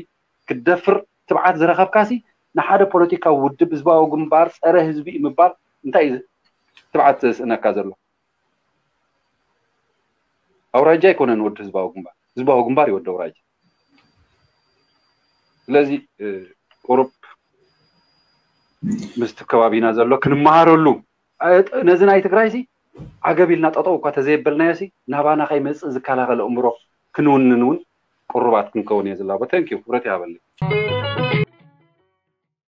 ክትደፍር ትብዓት ዝረኸብካሲ፣ ንሓደ ፖለቲካዊ ውድብ ህዝባዊ ግንባር ጸረ ህዝቢ እዩ ምባል እንታይ እዩ ትብዓት ዘስእነካ ዘሎ? ኣውራጃ ኣይኮነን ወዲ ህዝባዊ ግንባር፣ ህዝባዊ ግንባር እዩ ወዲ ኣውራጃ። ስለዚ፣ እ፣ ቁሩብ ምስቲ ከባቢና ዘሎ ክንመሃረሉ፣ እ፣ ነዚ ናይ ትግራይሲ ዓገብ ኢልና ጠጠው እኳ ተዘየበልናዮሲ፣ ናባና ከይመጽእ ዝከላኸል ኣእምሮ ክንውንን እውን ቅሩባት ክንከውን እየ ዝላቦ። Thank you፣ ክብረት ይሃበለይ።